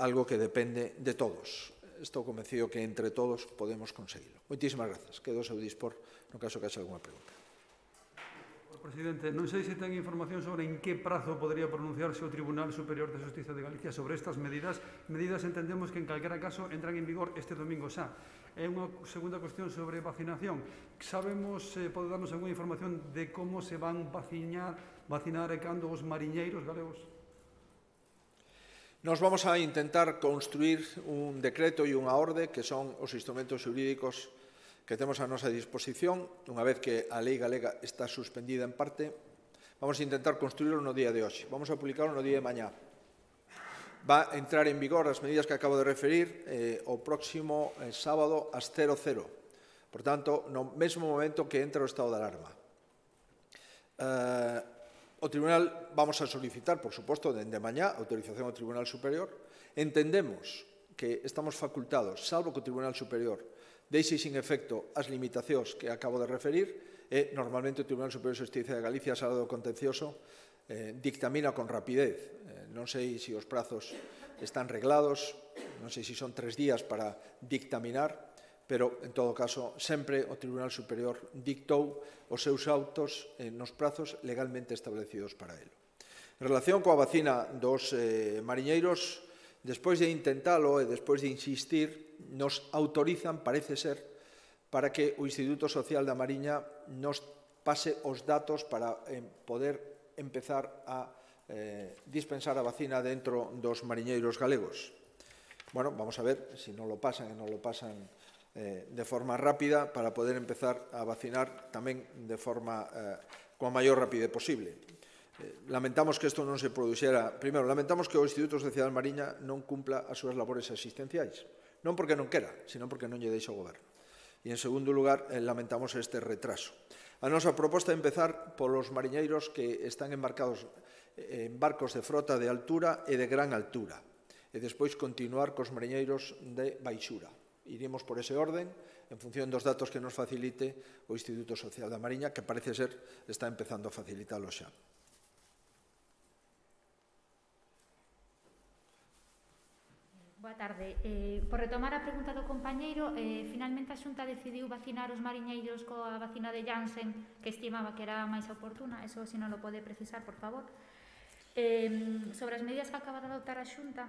algo que depende de todos. Estou convencido que entre todos podemos conseguilo. Moitísimas grazas. Quedo ao seu dispor no caso que haxa algunha pregunta. presidente. Non sei se ten información sobre en que prazo podría pronunciarse o Tribunal Superior de Xustiza de Galicia sobre estas medidas. Medidas entendemos que en calquera caso entran en vigor este domingo xa. É unha segunda cuestión sobre vacinación. Sabemos, eh, pode darnos alguna información de como se van vacinar, vacinar e cando os mariñeiros galegos? Nos vamos a intentar construir un decreto e unha orde que son os instrumentos xurídicos que temos a nosa disposición. Unha vez que a lei galega está suspendida en parte, vamos a intentar construirlo no día de hoxe. Vamos a publicarlo no día de mañá. Va a entrar en vigor as medidas que acabo de referir eh, o próximo eh, sábado ás cero cero. Por tanto, no mesmo momento que entra o estado de alarma. Eh, o Tribunal, vamos a solicitar, por suposto, dende mañá, autorización ao Tribunal Superior. Entendemos que estamos facultados, salvo que o Tribunal Superior deixe sin efecto as limitacións que acabo de referir, e normalmente o Tribunal Superior de Xustiza de Galicia, sala do contencioso, eh, dictamina con rapidez. Eh, non sei se os prazos están reglados, non sei se son tres días para dictaminar, pero, en todo caso, sempre o Tribunal Superior dictou os seus autos eh, nos prazos legalmente establecidos para ele. En relación coa vacina dos eh, mariñeiros, despois de intentalo e despois de insistir, nos autorizan, parece ser, para que o Instituto Social da Mariña nos pase os datos para eh, poder empezar a eh, dispensar a vacina dentro dos mariñeiros galegos. Bueno, vamos a ver se non lo pasan e non lo pasan eh, de forma rápida para poder empezar a vacinar tamén de forma eh, coa maior rapidez posible. Lamentamos que isto non se produxera. Primeiro, lamentamos que o Instituto Social da Mariña non cumpla as súas labores asistenciais. Non porque non quera, sino porque non lle deixa o goberno. E, en segundo lugar, lamentamos este retraso. A nosa proposta é empezar polos mariñeiros que están embarcados en barcos de frota de altura e de gran altura. E despois continuar cos mariñeiros de baixura. Iremos por ese orden, en función dos datos que nos facilite o Instituto Social da Mariña, que parece ser está empezando a facilitalo xa. Boa tarde. Eh, por retomar a pregunta do compañeiro, eh, finalmente a Xunta decidiu vacinar os mariñeiros coa vacina de Janssen, que estimaba que era máis oportuna. Eso, se non lo pode precisar, por favor. Eh, sobre as medidas que acaba de adoptar a Xunta,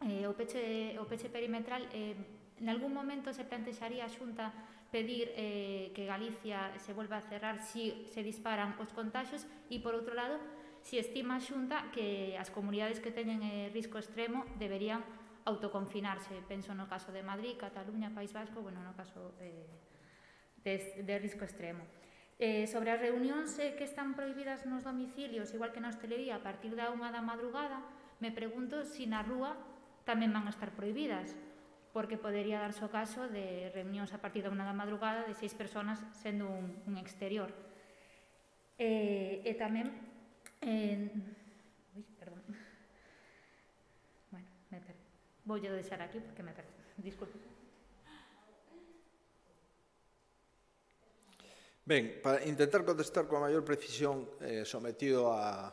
eh, o, peche, o peche perimetral, eh, en algún momento se plantexaría a Xunta pedir eh, que Galicia se volva a cerrar si se disparan os contagios e, por outro lado, si estima a Xunta que as comunidades que teñen eh, risco extremo deberían autoconfinarse. Penso no caso de Madrid, Cataluña, País Vasco, bueno, no caso eh, de, de risco extremo. Eh, sobre as reunións eh, que están prohibidas nos domicilios, igual que na hostelería, a partir da unha da madrugada, me pregunto se na rúa tamén van a estar prohibidas, porque podería darse o caso de reunións a partir da unha da madrugada de seis persoas sendo un, un exterior. Eh, e tamén... Eh, ui, perdón. Bueno, me perdí. Vou a deixar aquí porque me perdí. Disculpe. Ben, para intentar contestar coa maior precisión eh, sometido a,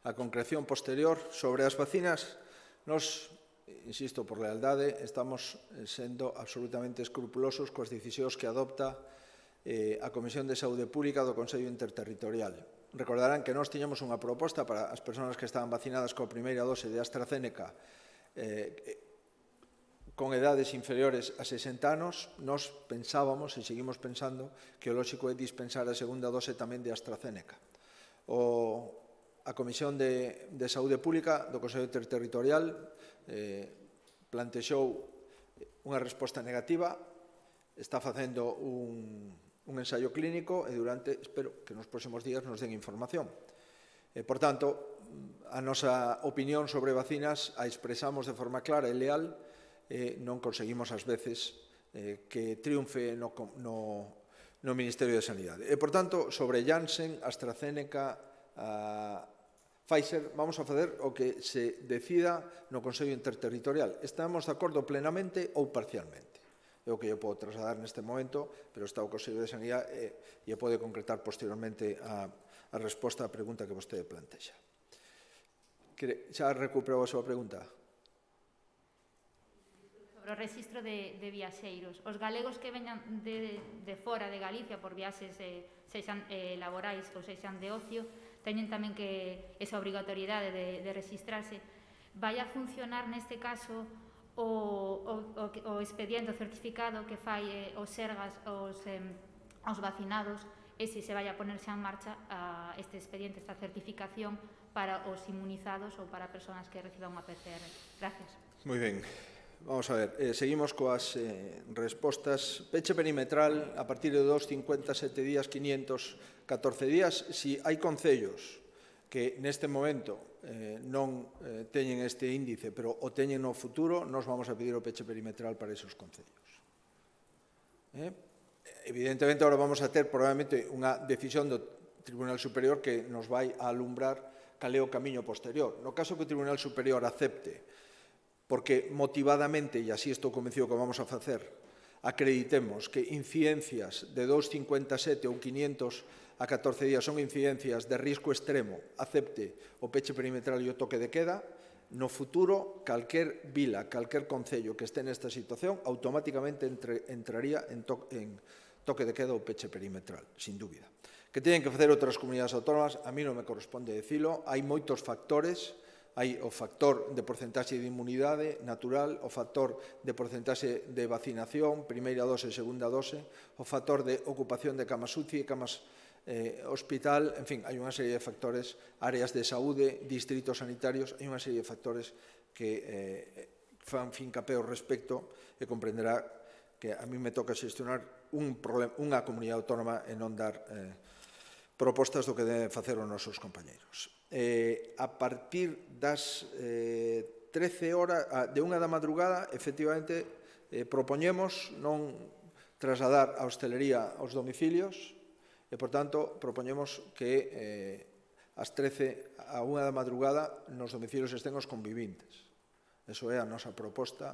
a concreción posterior sobre as vacinas, nos, insisto, por lealdade, estamos sendo absolutamente escrupulosos coas decisións que adopta eh, a Comisión de Saúde Pública do Consello Interterritorial. Recordarán que nós tiñamos unha proposta para as persoas que estaban vacinadas coa primeira dose de AstraZeneca eh, con edades inferiores a sesenta anos. Nos pensábamos e seguimos pensando que o lóxico é dispensar a segunda dose tamén de AstraZeneca. O, a Comisión de, de Saúde Pública do Consello Interterritorial eh, plantexou unha resposta negativa, está facendo un, un ensaio clínico e durante, espero que nos próximos días nos den información. Eh, por tanto, a nosa opinión sobre vacinas a expresamos de forma clara e leal. Eh, non conseguimos ás veces eh, que triunfe no, no, no Ministerio de Sanidade. E, por tanto, sobre Janssen, AstraZeneca, a Pfizer, vamos a fazer o que se decida no Consello Interterritorial. Estamos de acordo plenamente ou parcialmente. É o que eu podo trasladar neste momento, pero está o Consello de Sanidade e, e pode concretar posteriormente a, a resposta á pregunta que vostede plantexa. Xa recuperou a súa pregunta? Sobre o registro de, de viaxeiros. Os galegos que veñan de, de fora de Galicia por viaxes eh, sexan eh, laborais ou sexan de ocio, teñen tamén que esa obrigatoriedade de, de registrarse. Vai a funcionar neste caso o, o, o, o expediente, o certificado que fai eh, os sergas, os, eh, os vacinados, e se se vai a poner xa en marcha a este expediente, esta certificación para os inmunizados ou para persoas que reciban unha P C R. Gracias. Moi ben. Vamos a ver, eh, seguimos coas eh, respostas. Peche perimetral a partir de dos, cincuenta e sete días, quinientos catorce días. Si hai concellos que neste momento eh, non eh, teñen este índice, pero o teñen no futuro, nos vamos a pedir o peche perimetral para esos concellos. Eh? Evidentemente, agora vamos a ter probablemente unha decisión do Tribunal Superior que nos vai a alumbrar cal é o camiño posterior. No caso que o Tribunal Superior acepte, porque motivadamente, e así estou convencido que vamos a facer, acreditemos que incidencias de doscientos cincuenta e sete ou quinientos a catorce días son incidencias de risco extremo, acepte o peche perimetral e o toque de queda, no futuro, calquer vila, calquer concello que este nesta situación, automáticamente entre, entraría en, to, en toque de queda ou peche perimetral, sin dúbida. Que teñen que facer outras comunidades autónomas, a mí non me corresponde decilo, hai moitos factores. Hai o factor de porcentaxe de inmunidade natural, o factor de porcentaxe de vacinación, primeira dose e segunda dose, o factor de ocupación de camas U C I e camas eh, hospital, en fin, hai unha serie de factores, áreas de saúde, distritos sanitarios, hai unha serie de factores que eh, fan fincapé ao respecto e comprenderá que a mí me toca xestionar un problema, unha comunidade autónoma e non dar eh, propostas do que deben facer os nosos compañeiros. Eh, a partir das eh, trece horas, de unha da madrugada, efectivamente, eh, propoñemos non trasladar a hostelería aos domicilios e, por tanto, propoñemos que eh, as trece a unha da madrugada nos domicilios estén os convivintes. Eso é a nosa proposta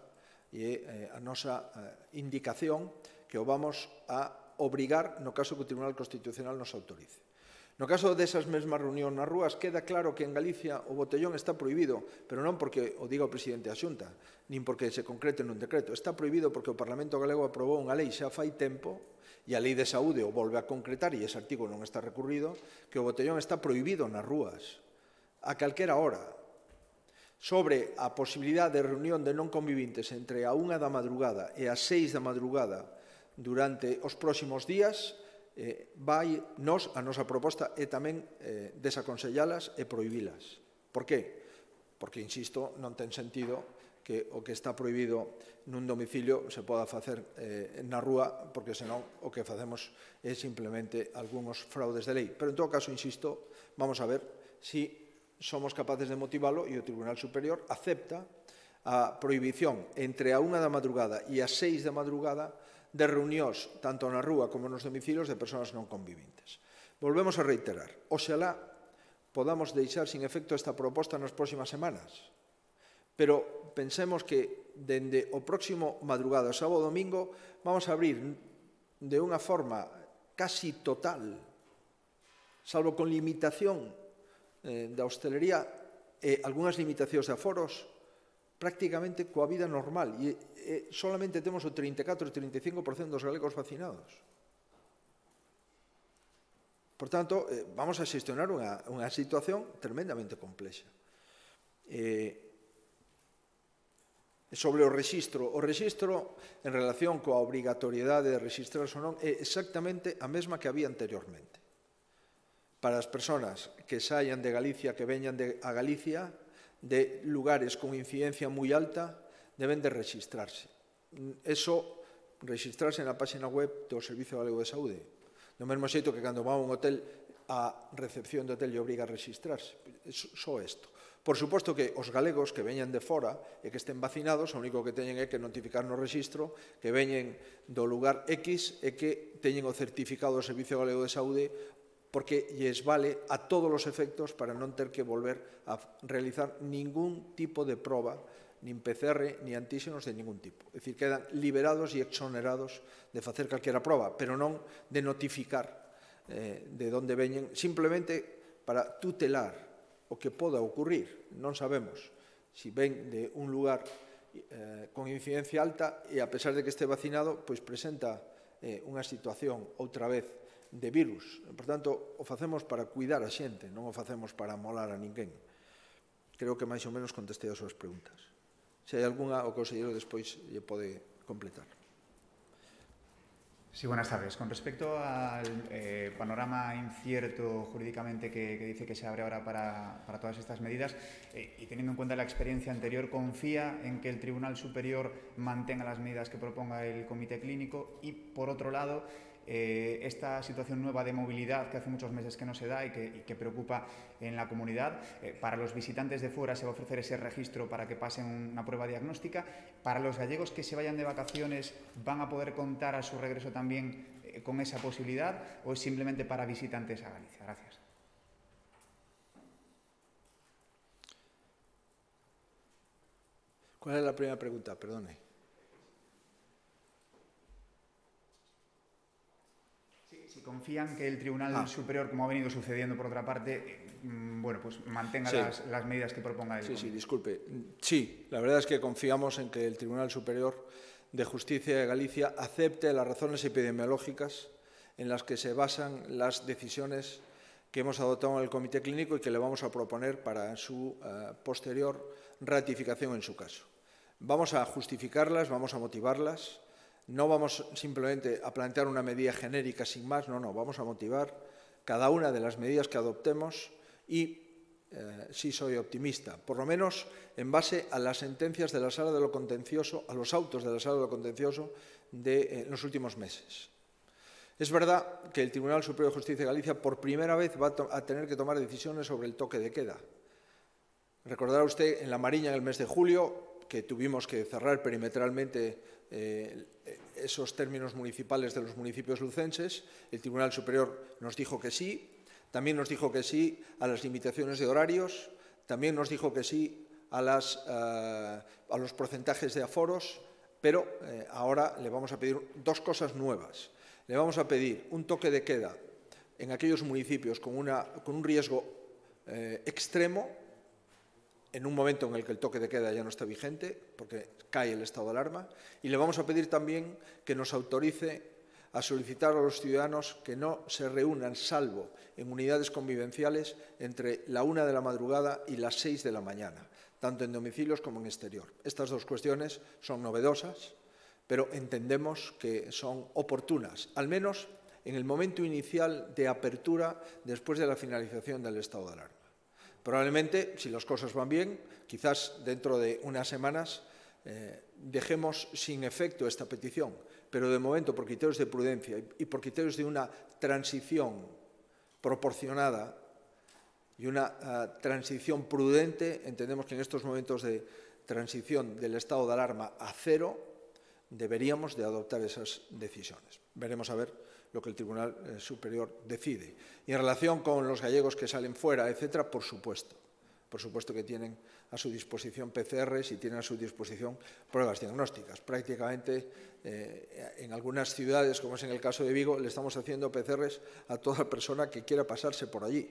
e eh, a nosa eh, indicación que o vamos a obrigar no caso que o Tribunal Constitucional nos autorice. No caso desas mesmas reunións nas rúas, queda claro que en Galicia o botellón está prohibido, pero non porque o diga o presidente da Xunta, nin porque se concrete nun decreto. Está prohibido porque o Parlamento Galego aprobou unha lei xa fai tempo, e a Lei de Saúde o volve a concretar, e ese artigo non está recurrido, que o botellón está prohibido nas rúas, a calquera hora. Sobre a posibilidade de reunión de non convivintes entre a unha da madrugada e as seis da madrugada durante os próximos días, Eh, vai nos, a nosa proposta é tamén eh, desaconsellalas e prohibilas. Por qué? Porque, insisto, non ten sentido que o que está prohibido nun domicilio se poda facer eh, na rúa, porque senón o que facemos é simplemente algúns fraudes de lei. Pero, en todo caso, insisto, vamos a ver si somos capaces de motivalo e o Tribunal Superior acepta a prohibición entre a unha da madrugada e as seis da madrugada de reunións, tanto na rúa como nos domicilios, de persoas non convivintes. Volvemos a reiterar, oxalá podamos deixar sin efecto esta proposta nas próximas semanas, pero pensemos que dende o próximo madrugada, sábado e domingo, vamos a abrir de unha forma casi total, salvo con limitación eh, da hostelería e algunhas limitacións de aforos, prácticamente coa vida normal, e eh, solamente temos o trinta e catro e trinta e cinco por cento dos galegos vacinados. Por tanto, eh, vamos a xestionar unha, unha situación tremendamente complexa. Eh, sobre o rexistro, o rexistro en relación coa obrigatoriedade de registrarse ou non é exactamente a mesma que había anteriormente. Para as persoas que saian de Galicia, que veñan de, a Galicia, de lugares con incidencia moi alta, deben de registrarse. Eso, registrarse na página web do Servicio Galego de Saúde. Do mesmo xeito que cando va a un hotel, a recepción do hotel lle obriga a registrarse. Só isto. Por suposto que os galegos que veñan de fora e que estén vacinados, o único que teñen é que notificar no rexistro que veñen do lugar X e que teñen o certificado do Servicio Galego de Saúde, porque lles vale a todos os efectos para non ter que volver a realizar ningún tipo de proba, nin P C R, ni antíxenos de ningún tipo. É dicir, quedan liberados e exonerados de facer calquera proba, pero non de notificar eh, de onde veñen, simplemente para tutelar o que poda ocurrir. Non sabemos se ven de un lugar eh, con incidencia alta e, a pesar de que este vacinado, pois presenta eh, unha situación, outra vez, de virus. Por tanto, o facemos para cuidar a xente, non o facemos para molar a ninguén. Creo que máis ou menos contestei as súas preguntas. Se hai algunha, o conselleiro despois lle pode completar. Sí, buenas tardes. Con respecto al eh, panorama incierto jurídicamente que, que dice que se abre ahora para, para todas estas medidas eh, y teniendo en cuenta la experiencia anterior, ¿confía en que el Tribunal Superior mantenga las medidas que proponga el Comité Clínico? Y, por otro lado, eh, esta situación nueva de movilidad que hace muchos meses que no se da y que, y que preocupa en la comunidad, eh, para los visitantes de fuera se va a ofrecer ese registro para que pasen una prueba diagnóstica. Para los gallegos que se vayan de vacaciones, ¿van a poder contar a su regreso también eh, con esa posibilidad o es simplemente para visitantes a Galicia? Gracias. ¿Cuál es la primera pregunta? Perdone. Si confían que el Tribunal ah. Superior, como ha venido sucediendo por otra parte, eh, bueno, pues mantenga sí. las, las medidas que proponga el Sí, Comité. sí, disculpe. Sí, la verdad es que confiamos en que el Tribunal Superior de Justicia de Galicia acepte las razones epidemiológicas en las que se basan las decisiones que hemos adoptado en el Comité Clínico y que le vamos a proponer para su uh, posterior ratificación en su caso. Vamos a justificarlas, vamos a motivarlas. No vamos simplemente a plantear una medida genérica sin más, no, no, vamos a motivar cada una de las medidas que adoptemos y eh, sí soy optimista, por lo menos en base a las sentencias de la Sala de lo Contencioso, a los autos de la Sala de lo Contencioso de eh, los últimos meses. Es verdad que el Tribunal Superior de Justicia de Galicia por primera vez va a, a tener que tomar decisiones sobre el toque de queda. Recordará usted en La Mariña en el mes de julio que tuvimos que cerrar perimetralmente Eh, esos términos municipales de los municipios lucenses. El Tribunal Superior nos dijo que sí, también nos dijo que sí a las limitaciones de horarios, también nos dijo que sí a, las, uh, a los porcentajes de aforos, pero eh, ahora le vamos a pedir dos cosas nuevas. Le vamos a pedir un toque de queda en aquellos municipios con, una, con un riesgo eh, extremo, en un momento en el que el toque de queda ya no está vigente, porque cae el estado de alarma, y le vamos a pedir también que nos autorice a solicitar a los ciudadanos que no se reúnan, salvo en unidades convivenciales, entre la una de la madrugada y las seis de la mañana, tanto en domicilios como en exterior. Estas dos cuestiones son novedosas, pero entendemos que son oportunas, al menos en el momento inicial de apertura después de la finalización del estado de alarma. Probablemente, si las cosas van bien, quizás dentro de unas semanas eh, dejemos sin efecto esta petición, pero de momento, por criterios de prudencia y por criterios de una transición proporcionada y una uh, transición prudente, entendemos que en estos momentos de transición del estado de alarma a cero deberíamos de adoptar esas decisiones. Veremos a ver lo que el Tribunal eh, Superior decide. Y en relación con los gallegos que salen fuera, etcétera, por supuesto, por supuesto que tienen a su disposición P C Rs y tienen a su disposición pruebas diagnósticas. Prácticamente eh, en algunas ciudades, como es en el caso de Vigo, le estamos haciendo P C Rs a toda persona que quiera pasarse por allí,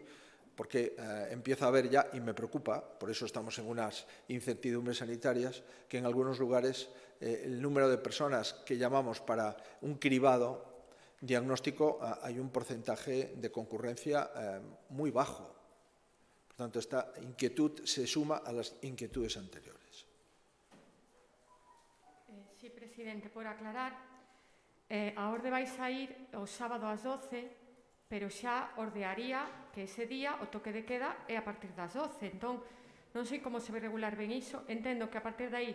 porque eh, empieza a haber ya, y me preocupa, por eso estamos en unas incertidumbres sanitarias, que en algunos lugares eh, el número de personas que llamamos para un cribado diagnóstico hay un porcentaje de concurrencia eh, muy bajo. Por tanto, esta inquietud se suma a las inquietudes anteriores. Eh, sí, presidente, por aclarar, eh, a orde vais a ir o sábado ás doce, pero xa ordearía que ese día o toque de queda é a partir das doce. Entón, non sei como se vai regular ben iso. Entendo que a partir de aí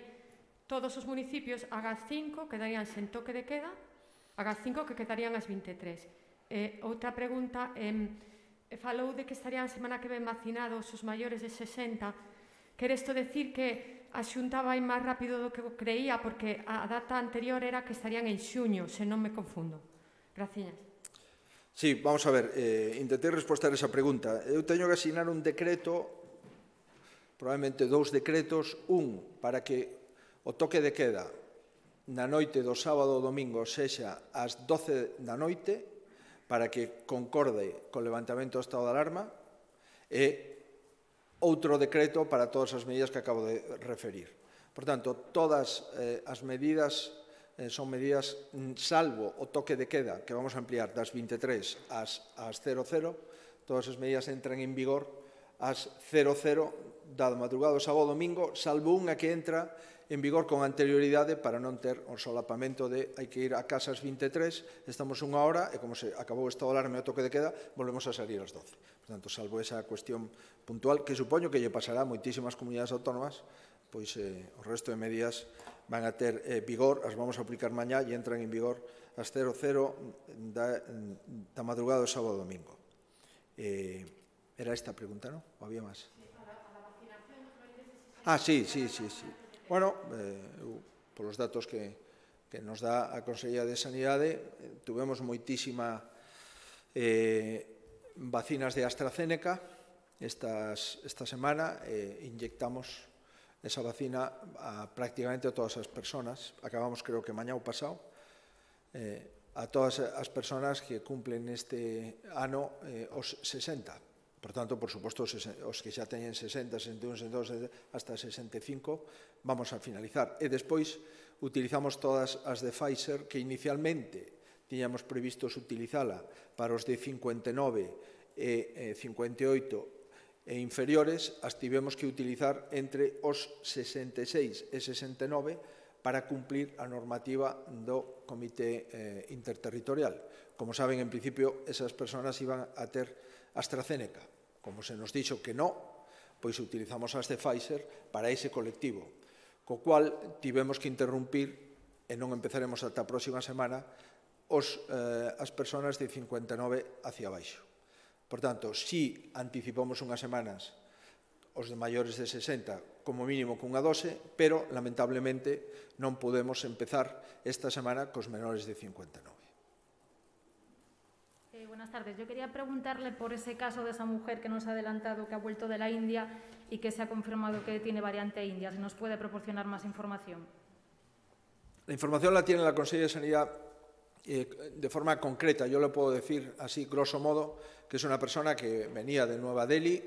todos os municipios agás cinco quedarían sen toque de queda, agás cinco que quedarían as veintitrés. Eh, outra pregunta, eh, falou de que estarían semana que ven vacinados os maiores de sesenta. Quere isto decir que a Xunta vai máis rápido do que creía, porque a data anterior era que estarían en xuño, se non me confundo. Gracias. Sí, vamos a ver, eh, intentei responder esa pregunta. Eu teño que asignar un decreto, probablemente dous decretos, un para que o toque de queda na noite do sábado ou domingo sexa ás doce da noite para que concorde co levantamento do estado de alarma e outro decreto para todas as medidas que acabo de referir. Por tanto, todas eh, as medidas eh, son medidas, salvo o toque de queda, que vamos a ampliar das vinte e tres ás, ás cero cero, todas as medidas entran en vigor ás cero cero da madrugada do sábado ao domingo, salvo unha que entra en vigor con anterioridade para non ter o solapamento de hai que ir a casa ás vinte e tres, estamos unha hora e como se acabou o estado de alarma e o toque de queda, volvemos a salir ás doce. Por tanto, salvo esa cuestión puntual, que supoño que lle pasará a moitísimas comunidades autónomas, pois eh, o resto de medidas van a ter eh, vigor, as vamos a aplicar mañá e entran en vigor ás cero cero da, da madrugada do sábado ao domingo. Eh, era esta a pregunta, non? Ou había máis? Ah, sí, sí, sí, sí. Bueno, eh, eu, polos datos que, que nos dá a Consellería de Sanidade, eh, tuvemos moitísima eh, vacinas de AstraZeneca estas, esta semana, eh, inyectamos esa vacina a prácticamente a todas as persoas, acabamos creo que mañá ou pasado, eh, a todas as persoas que cumplen este ano eh, os sesenta. Por tanto, por suposto, os que xa teñen sesenta, sesenta e un, sesenta e dous, hasta sesenta e cinco, vamos a finalizar. E despois utilizamos todas as de Pfizer, que inicialmente tiñamos previstos utilizala para os de cincuenta e nove e cincuenta e oito e inferiores, as tivemos que utilizar entre os sesenta e seis e sesenta e nove para cumplir a normativa do Comité eh, Interterritorial. Como saben, en principio, esas persoas iban a ter AstraZeneca. Como se nos dixo que non, pois utilizamos as de Pfizer para ese colectivo, co cual tivemos que interrumpir, e non empezaremos ata a próxima semana, os, eh, as persoas de cincuenta e nove hacia baixo. Por tanto, si anticipamos unhas semanas os de maiores de sesenta como mínimo cunha dose, pero, lamentablemente, non podemos empezar esta semana cos menores de cincuenta e nove. Eh, buenas tardes. Yo quería preguntarle por ese caso de esa mujer que nos ha adelantado que ha vuelto de la India y que se ha confirmado que tiene variante India. ¿Se nos puede proporcionar más información? La información la tiene la Consellería de Sanidad eh, de forma concreta. Yo le puedo decir así, grosso modo, que es una persona que venía de Nueva Delhi,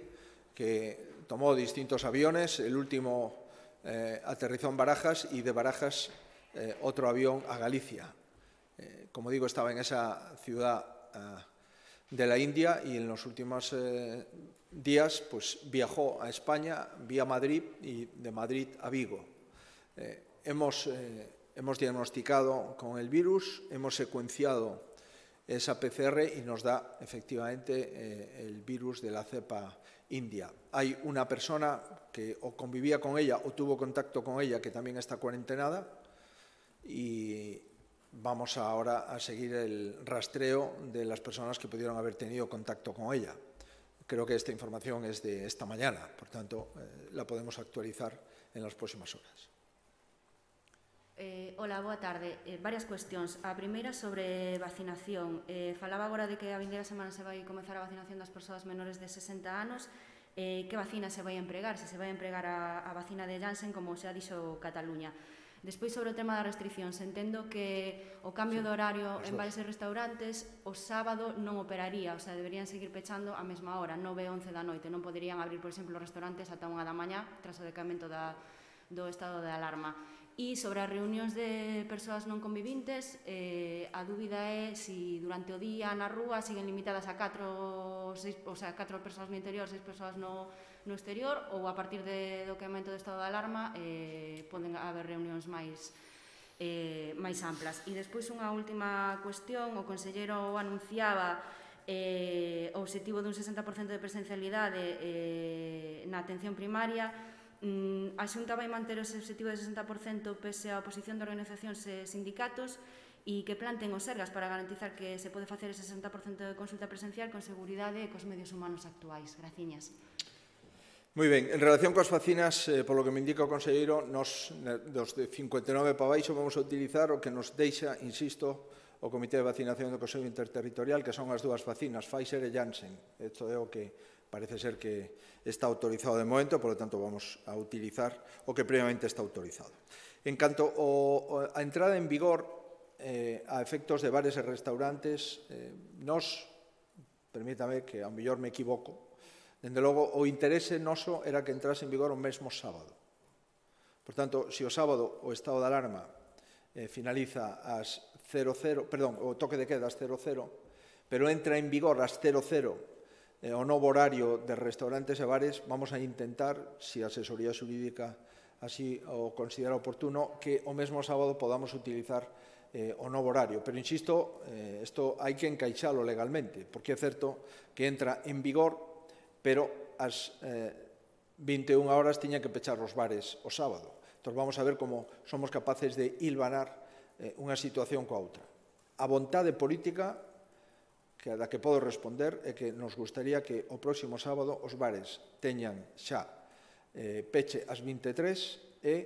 que tomó distintos aviones, el último eh, aterrizó en Barajas y de Barajas eh, otro avión a Galicia. Eh, como digo, estaba en esa ciudad de la India y en los últimos eh, días pues, viajó a España vía Madrid y de Madrid a Vigo. Eh, hemos, eh, hemos diagnosticado con el virus, hemos secuenciado esa P C R y nos da efectivamente eh, el virus de la cepa india. Hay una persona que o convivía con ella o tuvo contacto con ella que también está cuarentenada y vamos ahora a seguir el rastreo de las personas que pudieron haber tenido contacto con ella. Creo que esta información es de esta mañana, por tanto, eh, la podemos actualizar en las próximas horas. Eh, hola, boa tarde. Eh, varias cuestións. A primeira sobre vacinación. Eh, falaba agora de que a vindeira semana se vai comezar a vacinación das persoas menores de sesenta anos. Eh, que vacina se vai empregar? Se se vai empregar a, a vacina de Janssen, como xa dixo Cataluña. Despois, sobre o tema das restriccións, entendo que o cambio de horario en bares e restaurantes o sábado non operaría, o sea, deberían seguir pechando a mesma hora, nove e once da noite. Non poderían abrir, por exemplo, os restaurantes ata unha da mañá tras o decamento da, do estado de alarma. E sobre as reunións de persoas non convivintes, eh, a dúbida é se durante o día na rúa siguen limitadas a catro, seis, o sea, catro persoas no interior, seis persoas no, no exterior, ou a partir de, do decamento do estado de alarma eh, poden haber reunións máis, eh, máis amplas. E despois unha última cuestión, o conselleiro anunciaba eh, o obxectivo dun sesenta por cento de presencialidade eh, na atención primaria. A Xunta vai manter ese obxectivo de sesenta por cento pese á oposición de organizacións e sindicatos e que planten os sergas para garantizar que se pode facer ese sesenta por cento de consulta presencial con seguridade e cos medios humanos actuais. Graciñas. Moi ben, en relación coas vacinas, eh, polo que me indica o conselleiro, nos dos de cincuenta e nove para baixo vamos a utilizar o que nos deixa, insisto, o Comité de Vacinación do Consello Interterritorial, que son as dúas vacinas, Pfizer e Janssen. Isto é o que parece ser que está autorizado de momento, por lo tanto vamos a utilizar o que previamente está autorizado. En canto ao, a entrada en vigor eh, a efectos de bares e restaurantes, eh, nos, permítame que ao mellor me equivoco, dende logo o interese noso era que entrase en vigor o mesmo sábado. Por tanto, se o sábado o estado de alarma eh, finaliza ás cero cero, perdón, o toque de queda ás cero cero, pero entra en vigor ás cero cero eh, o novo horario de restaurantes e bares, vamos a intentar, se a asesoría xurídica así o considera oportuno, que o mesmo sábado podamos utilizar eh, o novo horario. Pero, insisto, eh, isto hai que encaixalo legalmente, porque é certo que entra en vigor, pero ás eh, vinte e unha horas tiñan que pechar os bares o sábado. Entón, vamos a ver como somos capaces de hilvanar eh, unha situación coa outra. A vontade política que a da que podo responder é que nos gustaría que o próximo sábado os bares teñan xa eh, peche ás vinte e tres e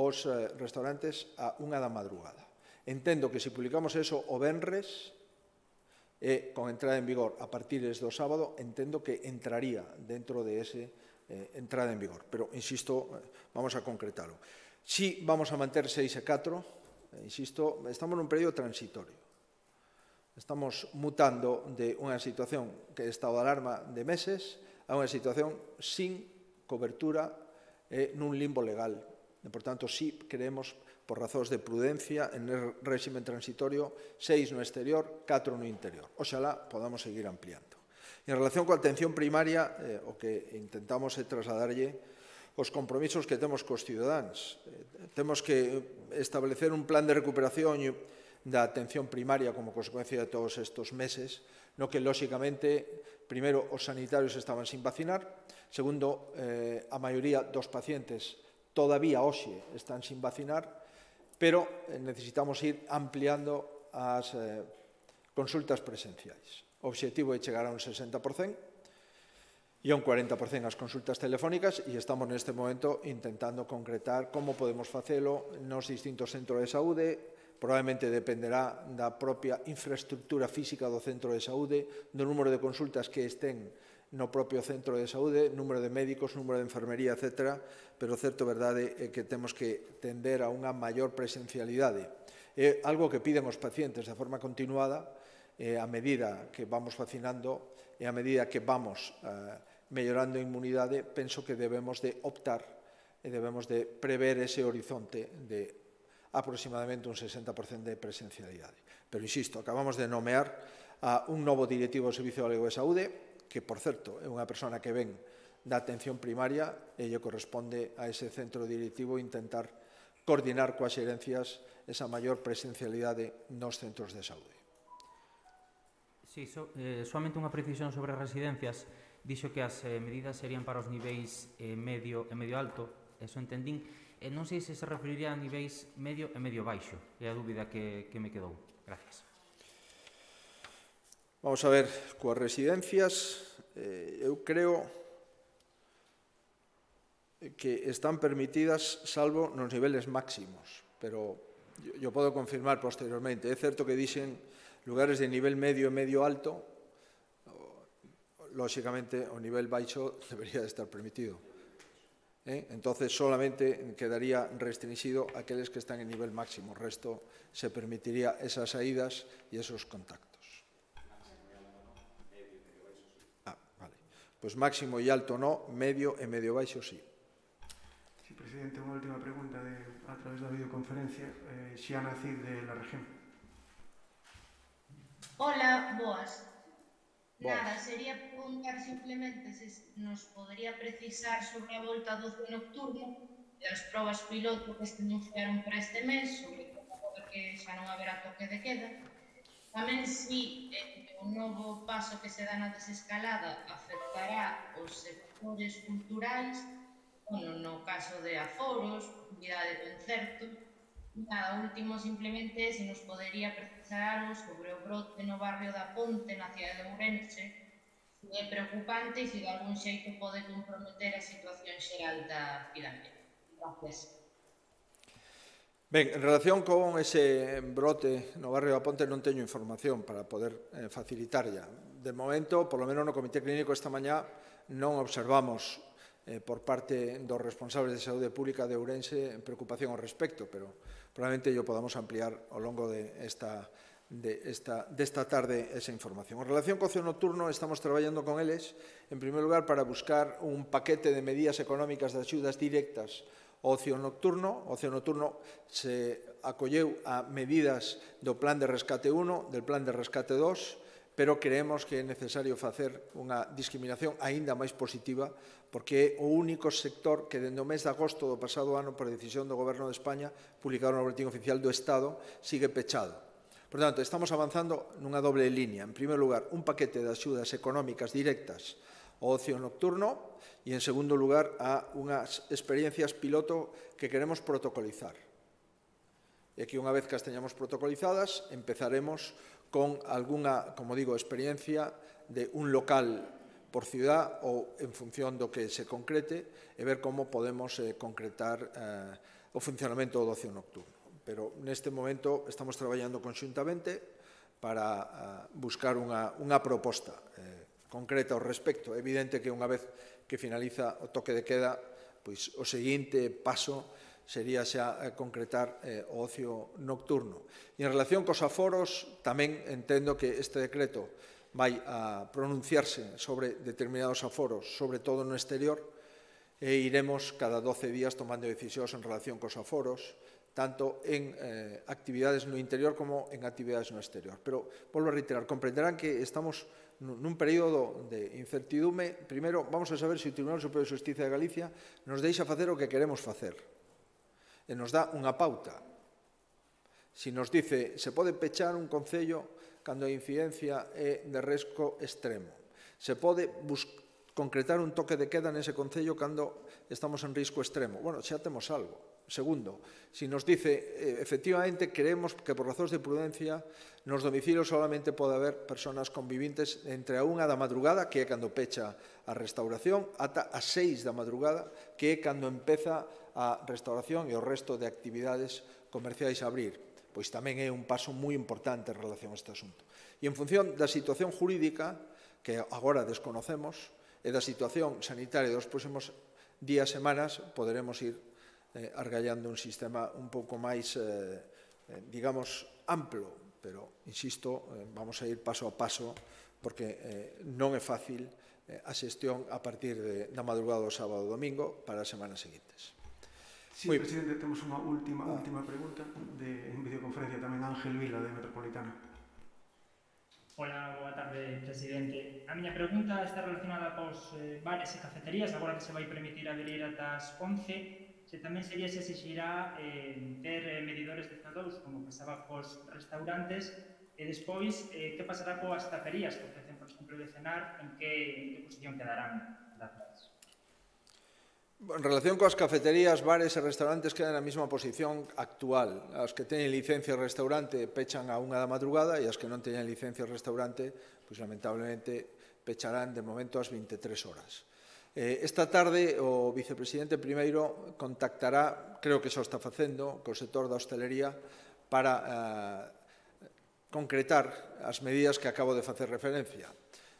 os eh, restaurantes a unha da madrugada. Entendo que se publicamos eso o venres e con entrada en vigor a partir do sábado, entendo que entraría dentro de ese eh, entrada en vigor. Pero, insisto, vamos a concretarlo. Si vamos a manter seis e catro, eh, insisto, estamos nun período transitorio. Estamos mutando de unha situación que é estado de alarma de meses a unha situación sin cobertura e nun limbo legal. E, por tanto, si creemos, por razóns de prudencia, en el réximen transitorio, seis no exterior, catro no interior. Oxalá podamos seguir ampliando. E en relación coa atención primaria, eh, o que intentamos é trasladarlle os compromisos que temos cos cidadáns. Eh, temos que establecer un plan de recuperación da atención primaria como consecuencia de todos estes meses, no que, lóxicamente, primeiro, os sanitarios estaban sin vacinar, segundo, eh, a maioría dos pacientes todavía hoxe están sin vacinar, pero eh, necesitamos ir ampliando as eh, consultas presenciais. O obxectivo é chegar a un sesenta por cento e a un cuarenta por cento as consultas telefónicas e estamos neste momento intentando concretar como podemos facelo nos distintos centros de saúde. Probablemente dependerá da propia infraestructura física do centro de saúde, do número de consultas que estén no propio centro de saúde, número de médicos, número de enfermería, etcétera, pero o certo verdade é que temos que tender a unha maior presencialidade. É algo que piden os pacientes de forma continuada, e a medida que vamos vacinando e a medida que vamos eh, mellorando a inmunidade, penso que debemos de optar e debemos de prever ese horizonte de aproximadamente un sesenta por cento de presencialidade. Pero, insisto, acabamos de nomear a un novo directivo do Servicio Galego de Saúde, que, por certo, é unha persona que ven da atención primaria e lle corresponde a ese centro directivo intentar coordinar coas xerencias esa maior presencialidade nos centros de saúde. Sí, so, eh, solamente unha precisión sobre as residencias. Dixo que as eh, medidas serían para os niveis eh, medio e medio alto, eso entendín. E non sei se se referiría a niveis medio e medio baixo. É a dúbida que, que me quedou. Gracias. Vamos a ver, coas residencias, eh, eu creo que están permitidas salvo nos niveles máximos, pero yo, yo podo confirmar posteriormente. É certo que dixen lugares de nivel medio e medio alto, lóxicamente o nivel baixo debería de estar permitido. ¿Eh? Entonces solamente quedaría restringido a aqueles que están en nivel máximo, o resto se permitiría esas saídas e esos contactos. Ah, vale. Pues máximo e alto no, medio e medio baixo sí. Sí, presidente, unha última pregunta de, a través da videoconferencia. Eh, Xiana Cid, de La Región. Hola, boas. Boas. Nada, sería preguntar simplemente se nos podería precisar sobre a volta do ocio nocturno e as probas piloto que se anunciaron para este mes, sobre como que xa non haberá toque de queda. Tamén si eh, o novo paso que se dá na desescalada afectará os sectores culturais, bueno, no caso de aforos, actividade de concerto. Nada, último simplemente se nos podería precisar algo sobre o brote no barrio da Ponte, na cidade de Ourense, se é preocupante e se de algún xeito pode comprometer a situación xeral da cidade. Gracias. Ben, en relación con ese brote no barrio da Ponte non teño información para poder eh, facilitar ya. De momento, por lo menos no Comité Clínico esta mañá non observamos eh, por parte dos responsables de saúde pública de Ourense preocupación ao respecto, pero probablemente yo podamos ampliar ao longo de esta desta, desta tarde esa información. En relación co ocio nocturno, estamos traballando con eles, en primeiro lugar, para buscar un paquete de medidas económicas de axudas directas ao ocio nocturno. O ocio nocturno se acolleu a medidas do Plan de Rescate uno, del Plan de Rescate dos, pero creemos que é necesario facer unha discriminación aínda máis positiva, porque é o único sector que, dende o mes de agosto do pasado ano, por decisión do Goberno de España, publicado no Boletín Oficial do Estado, sigue pechado. Por tanto, estamos avanzando nunha doble línea. En primeiro lugar, un paquete de axudas económicas directas ao ocio nocturno e, en segundo lugar, a unhas experiencias piloto que queremos protocolizar. E que, unha vez que as teñamos protocolizadas, empezaremos con algunha, como digo, experiencia de un local por ciudad ou en función do que se concrete e ver como podemos eh, concretar eh, o funcionamento do ocio nocturno. Pero neste momento estamos traballando conxuntamente para uh, buscar unha, unha proposta eh, concreta ao respecto. É evidente que unha vez que finaliza o toque de queda, pois o seguinte paso sería xa eh, concretar eh, o ocio nocturno. E en relación cos aforos, tamén entendo que este decreto vai a pronunciarse sobre determinados aforos, sobre todo no exterior, e iremos cada doce días tomando decisións en relación cos aforos, tanto en eh, actividades no interior como en actividades no exterior. Pero, volvo a reiterar, comprenderán que estamos nun período de incertidume. Primeiro, vamos a saber se o Tribunal Superior de Xustiza de Galicia nos deixa facer o que queremos facer. E nos dá unha pauta. Si nos dice, se pode pechar un concello cando a incidencia é de risco extremo. Se pode concretar un toque de queda nese concello cando estamos en risco extremo. Bueno, xa temos algo. Segundo, si nos dice, eh, efectivamente, creemos que por razóns de prudencia nos domicilios solamente pode haber persoas convivintes entre a unha da madrugada, que é cando pecha a restauración, ata a seis da madrugada, que é cando empeza a restauración e o resto de actividades comerciais a abrir. Pois tamén é un paso moi importante en relación a este asunto. E en función da situación jurídica, que agora desconocemos, e da situación sanitaria dos próximos días, semanas, poderemos ir eh, argallando un sistema un pouco máis, eh, eh, digamos, amplo, pero, insisto, eh, vamos a ir paso a paso, porque eh, non é fácil eh, a xestión a partir de, da madrugada do sábado e domingo para as semanas seguintes. Sí, Muy... presidente, temos unha última, ah. última pregunta de, en videoconferencia tamén Ángel Vila, de Metropolitana. Hola, boa tarde, presidente. A miña pregunta está relacionada cos eh, bares e cafeterías, agora que se vai permitir abrir ata as once, se tamén sería se exixirá eh, ter eh, medidores de C O dous, como pasaba cos restaurantes, e despois, eh, que pasará coas taperías que ofrecen, por exemplo, de cenar, en que, en que posición quedarán? Gracias. En relación coas cafeterías, bares e restaurantes quedan na mesma posición actual. As que teñen licencia de restaurante pechan a unha da madrugada e as que non teñen licencia de restaurante, pois lamentablemente pecharán de momento ás veintitrés horas. Eh, esta tarde o vicepresidente primeiro contactará, creo que xa o está facendo, co sector da hostelería para eh, concretar as medidas que acabo de facer referencia.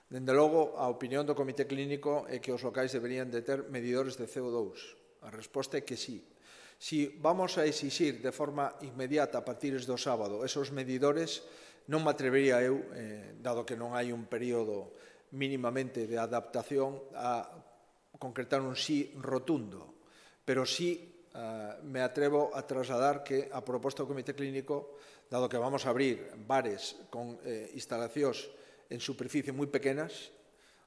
Dende logo, a opinión do Comité Clínico é que os locais deberían de ter medidores de C O dous. A resposta é que sí. Si vamos a exixir de forma inmediata a partir do sábado esos medidores, non me atrevería eu, eh, dado que non hai un período mínimamente de adaptación, a concretar un sí rotundo. Pero sí eh, me atrevo a trasladar que a proposta do Comité Clínico, dado que vamos a abrir bares con eh, instalacións en superficie moi pequenas,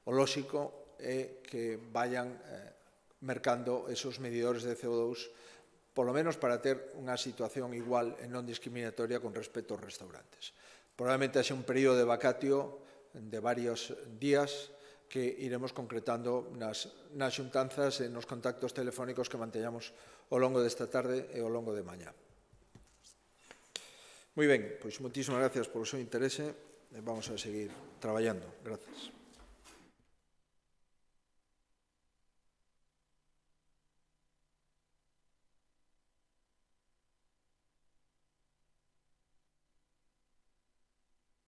o lóxico é que vayan eh, mercando esos medidores de C O dous, polo menos para ter unha situación igual e non discriminatoria con respecto aos restaurantes. Probablemente haxe un período de vacatio de varios días que iremos concretando nas, nas xuntanzas e nos contactos telefónicos que manteñamos ao longo desta tarde e ao longo de mañá. Moi ben, pois moitísimas gracias polo seu interese. Vamos a seguir traballando. Gracias.